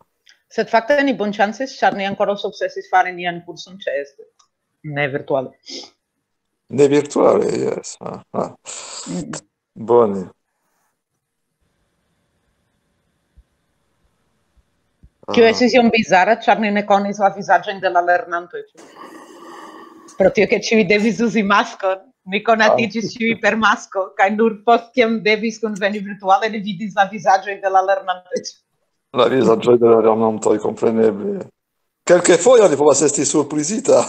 Sed fakte ni bonŝancis, ĉar ni ankoraŭ sukcesis fari nian kurson ĉeeste. Ne virtuale. Ne virtuale, jes. Aha. Mm. Bone. Tio, ah, estis iom bizara, ĉar ni ne konis la vizaĝojn de la lernantoj, ĉu? Pro tio, ke ĉiuj devis uzi maskon, ni konatiĝis, ah, ĉiuj per masko, kaj nur post kiam devis kunveni virtuale, ni vidis la vizaĝojn de la lernantoj. La vizaĝoj de la lernantoj, kompreneble. Kelkfoje oni povas esti surprizita.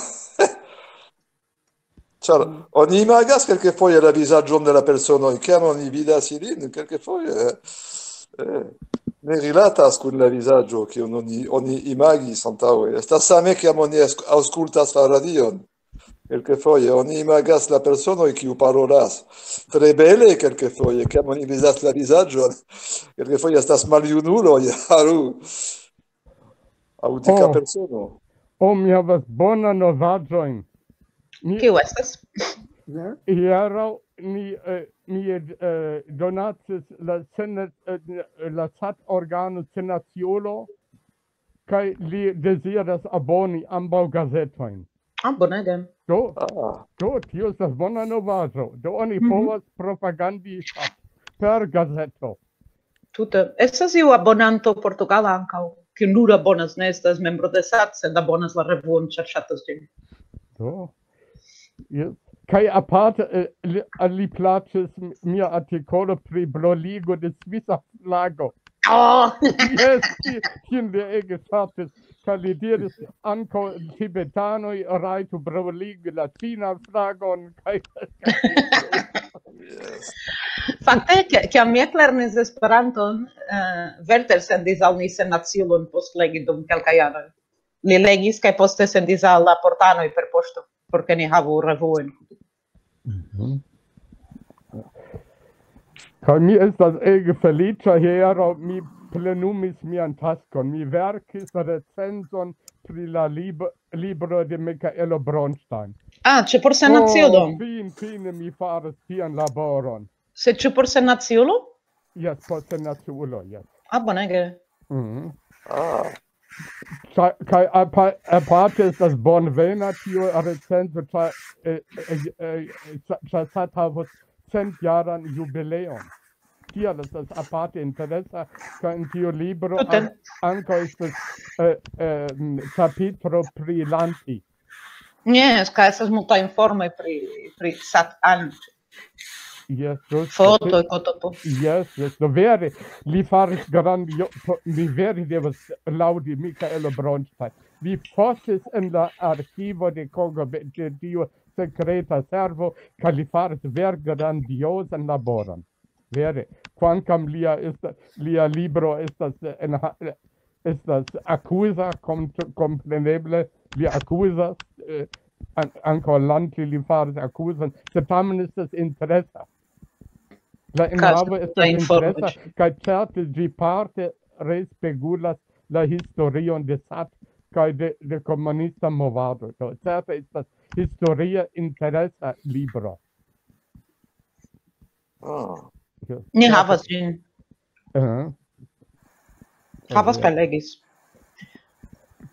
Ĉar oni imagas kelkfoje la vizaĝon de la personoj, kiam oni vidas ilin, kelkfoje, eh, ne rilatas kun la vizaĝo, kiun oni, oni imagis antaŭe. Estas same, kiam oni aŭs-, aŭskultas la radion. Kelkfoje oni imagas la personoj, kiu parolas tre bele, kelkfoje, kiam oni vizas la vizaĝon, kelkfoje estas maljunuloj, aŭ, aŭ dika Oh. Persono. Oh, mi havas bonan novaĵojn. Mi Kiu estas? hieraŭ ni, eh, mi eh, donacis la sen, eh, la sat organo Senaciulo, kaj li deziras aboni ambaŭ gazetojn. Ah, bonege. Do, Ah, do, tio estas bona novaĵo. Do oni Mhm. povas propagandi per gazeto. Tute. Estas iu abonanto portugala ankaŭ, kiu nur abonas, ne estas membro de sat, sed abonas la revuon, ĉar ŝatas ĝin. Do. Yes. Kaj aparte, eh, li, al li plaĉis mia artikolo pri broligo de svisa flago. Oh! Yes, ti- tiun li ege ŝatis. Kaj li diris, ankaŭ tibetanoj rajtu broligi la ĉinan flagon. Kaj yes. Fakte, ke- kiam mi eklernis Esperanton, eh, Werther sendis al ni Senaciulon post legi dum kelkaj jaroj. Li legis kaj poste sendis al la portanoj per poŝto, por ke ni havu revuojn. Kaj mi estas ege feliĉa hieraŭ, mi plenumis mian taskon. Mi verkis recenzon pri la lib libro de Michaelo Bronstein. Ah, ĉu por Senaciulo? Oh, fin, fine mi faris tian laboron. Sed ĉu por Senaciulo? Yes, por Senaciulo, yes. Ah, bonege. Mhm. Ah, Ĉa- Kaj apa- aparte estas bonvena tio recenzo, ĉar eh, eh, eh, ĉa- ĉar sat havos centjaran jubileon. Tial estas aparte interesa, kaj en tiu libro Tute. an- ankaŭ estas eh, eh, m, ĉapitro pri Lanti. Yes, kaj estas multaj informoj pri, pri sat anjo. Yes, just- Fotoj, kotopo. Yes, yes, do vere, li faris grandio, po- mi vere devas laŭdi Michaelo Bronstein. Li fosis en la arkivo de K G B, de tiu sekreta servo, kaj li faris vere grandiozan laboron. Vere, kvankam lia, esta, lia libro estas, en, ha- estas akuza, kom- kompreneble li akuzas eh, an- ankaŭ Lanti li faris akuzon, sed tamen estas interesa. La enhavo Kaj estas informo- interesa, kaj certe ĝi parte respegulas la historion de sat kaj de, de komunista movado. Do, certe estas historia interesa libro. ah. Ni havas ĝin. Uh-huh. Havas kaj legis.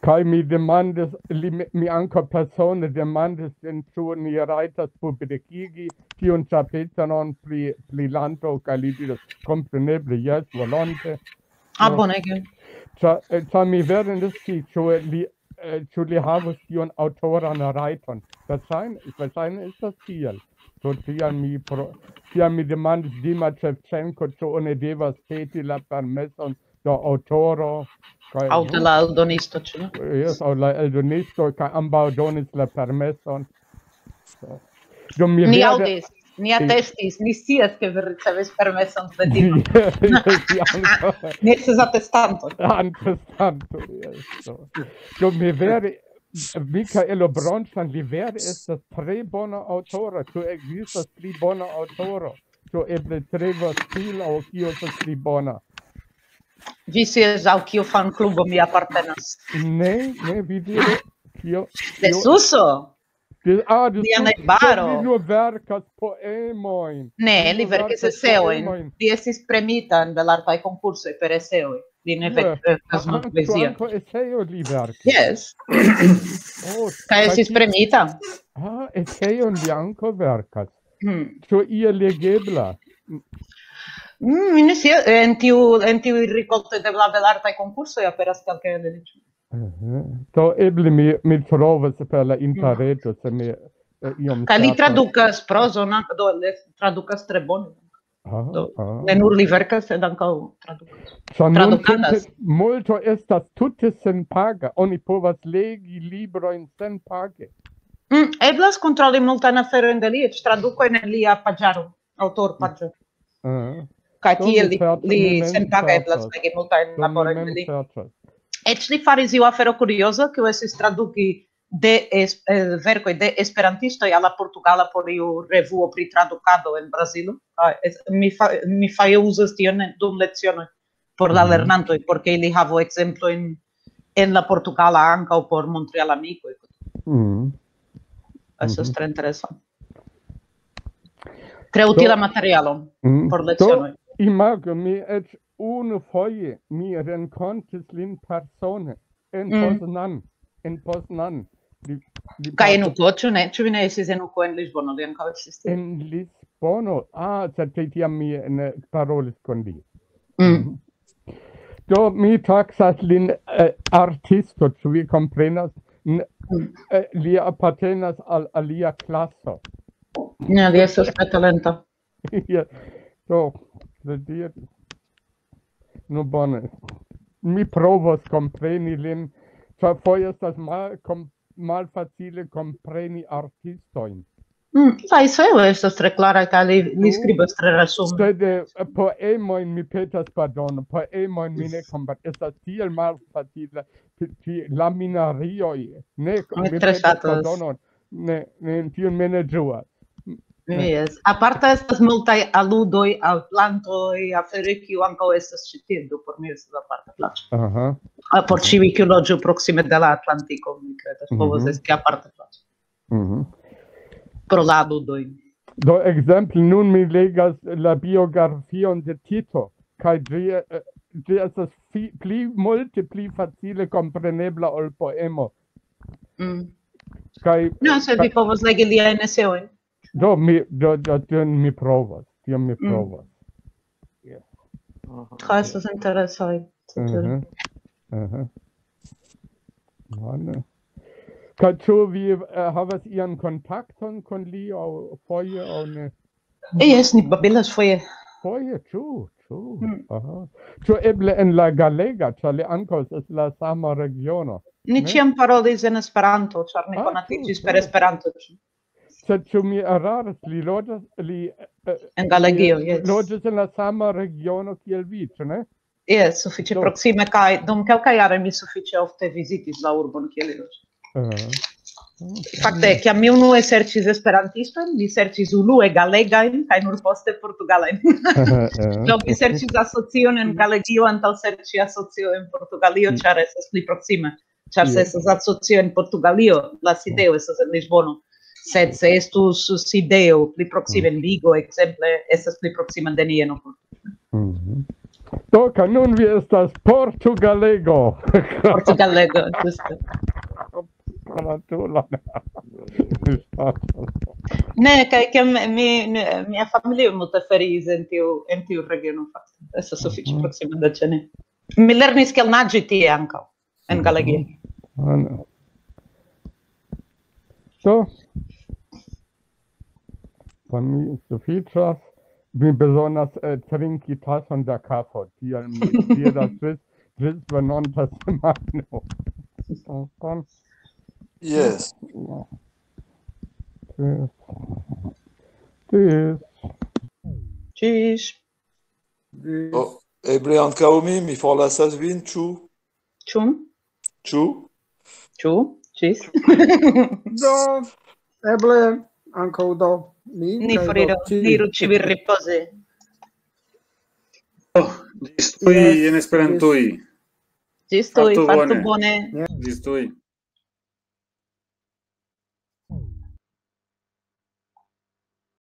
Kaj mi demandis, li, mi- mi ankaŭ persone demandis lin, ĉu ni rajtas publikigi tiun ĉapitron pri, pri Lanto, kaj li diris, kompreneble, jes, volonte. Ah, bonege. Ĉar eh, ĉar mi vere ne sciis, ĉu li, eh, ĉu li havus tiun aŭtoran rajton. Verŝajne, verŝajne estas tiel. Do tiam mi, pro, tiam mi demandis Dima Ŝevĉenko, ĉu oni devas peti la permeson de aŭtoro. Kaj, Aŭ de la eldonisto, ĉu ne? Jes, aŭ la eldonisto, kaj ambaŭ donis la permeson. Do mi Ni vere- aŭdis, ni atestis, ni scias, ke vi ricevis permeson de Dima. Jes, jes, ankaŭ Ni estas atestanto. Atestanto, jes. Do. Do mi vere, Michaelo Bronstein, li vere estas tre bona aŭtoro. Ĉu ekzistas pli bona aŭtoro? Ĉu eble tre facila aŭ kio estas pli bona? Vi scias, al kiu fanklubo mi apartenas? Ne, ne, vi diru. Kio? De kio- Suso! De, ah, de Lia Suso, najbaro. Li nur verkas poemojn. Ne, Li li nur verkis verkas eseojn. Poemojn. Li estis premita en belartaj konkursoj per eseoj. Li ne Jes. verkas nur Ankaŭ poezion. Ankaŭ eseo li verkis. Jes, Oh, kaj estis ti- premita. Ah, eseon li ankaŭ verkas. Hmm. Ĉu ia legebla? Mm, mi ne scias, en tiu, en tiuj rikoltoj de la belartaj konkursoj aperas kelkaj el ili. Mhm. Do eble mi, mi trovas per la interreto, se mi eh, iom Kaj li ŝatas. Tradukas prozon, ankaŭ, do li tradukas tre bone. Ah, Do, ah. Ne nur li verkas, sed ankaŭ tradukas. Ĉar Tradukadas. Nuntempe multo estas tute senpaga. Oni povas legi librojn senpage. Mm, eblas kontroli multajn aferojn de li, eĉ tradukojn en lia paĝaro, aŭtorpaĝo. Ah. Kaj Do tie mi li, certe li mi mem senpaga eblas ŝatas. legi multajn Do mi laborojn de mem li. ŝatas. Eĉ li faris iu afero kurioza, kiu estis traduki de es, eh, verkoj de esperantistoj al la portugala por iu revuo pri tradukado en Brazilo. Ah, es, mi, fa, mi faje uzas tion dum lecionoj por la lernantoj, por ke ili havu ekzemplojn en la portugala ankaŭ por montri al amikoj. Mm. Estas tre interesa. Tre utila materialo por lecionoj. Imagu, mi eĉ unu foje mi renkontis lin persone en Poznan. En Poznan. Kaj en uko, ĉu ne? Ĉu vi ne estis en uko en Lisbono? Li ankaŭ estis tie. En Lisbono? Ah, sed tiam mi ne parolis kun li. Mm. Do mi taksas lin, eh, artisto, ĉu vi komprenas? N-, eh, li apartenas al alia klaso. Ne, li estas tre talenta. Ja. Do, kredite. Nu bone. Mi provos kompreni lin, ĉar foje estas mal-, kom-, malfacile kompreni artistojn. Mm, la eseo estas tre klara, kaj li, li skribas tre resume. Sed, eh, poemojn, mi petas pardonon, poemojn mi ne komprenas. Estas tiel malfacile, ti-, ti-, laminarioj. Ne, mi petas pardonon. Ne, ne, tion mi ne ĝuas. Yes. Aparte estas multaj aludoj al plantoj, aferoj, kiu ankaŭ estas ĉi tie, do por mi estas aparta plaĉo. Aha. Ah, por ĉiuj, kiu loĝu proksime de la Atlantiko, mi kredas, povas esti aparta plaĉo. Mhm. Pro la aludoj. Do, ekzemple, nun mi legas la biografion de Tito, kaj ĝi, eh, ĝi estas fi-, pli multe pli facile komprenebla ol poemo. Mm. Kaj, no, se vi povas legi liajn eseojn. Do, mi, do, do, tion mi provas, tion mi provas. Yes. Kaj estas interesoj. Mhm. Mhm. Bone. Kaj ĉu vi, eh, havas ian kontakton kun li, aŭ foje, aŭ ne? Jes, ni babilas foje. Foje, ĉu, ĉu? Mm. Aha. Ĉu eble en la galega, ĉar li ankaŭ estas la sama regiono? Ni ĉiam parolis en Esperanto, ĉar ni konatiĝis per Esperanto. Sed ĉu mi eraras, li loĝas, li, eh, en Galegio, li, yes, loĝas en la sama regiono kiel vi, ĉu ne? Jes, sufiĉe proksime, kaj dum kelkaj jaroj mi sufiĉe ofte vizitis la urbon, kie li loĝas. Aha. Fakte, kiam mi unue serĉis esperantistojn, mi serĉis unue galegajn, kaj nur poste portugalajn. Aha, aha. Do, mi serĉis asocion en Galegio antaŭ serĉi asocio en Portugalio, mm, ĉar estas pli proksime. Ĉar se, yes, estas asocio en Portugalio, la sideo estas en Lisbono. Sed se estus sideo pli proksime en Vigo, ekzemple, estas pli proksime de ni en Portugalio. Mhm. Do, kaj nun vi estas portugalego. Portugalego, ĝuste. Gratulon. Ne, kaj ke mi, mi, mia familio multe feriis en tiu, en tiu regiono, fakte. Estas sufiĉe proksime de ĉe ni. Mi lernis kiel naĝi tie ankaŭ, en Galegio. Ah, no. Do, por mi sufiĉas, mi bezonas, eh, trinki tason da kafo, tial mi diras ĝis, ĝis venonta semajno. Yes. Ĝis. Ĝis. Ĝis. Oh, eble ankaŭ mi, mi forlasas vin, ĉu? Ĉu? Ĉu? Ĉu? Ĝis. Do, eble ankaŭ do. Mi, ni kaj do, foriru, ĉiuj, ni iru ĉiuj ripozi. Oh, ĝis tuj, yes, en Esperantuj. Ĝis tuj, fartu bone. Fartu bone. Yes. Ĝis tuj.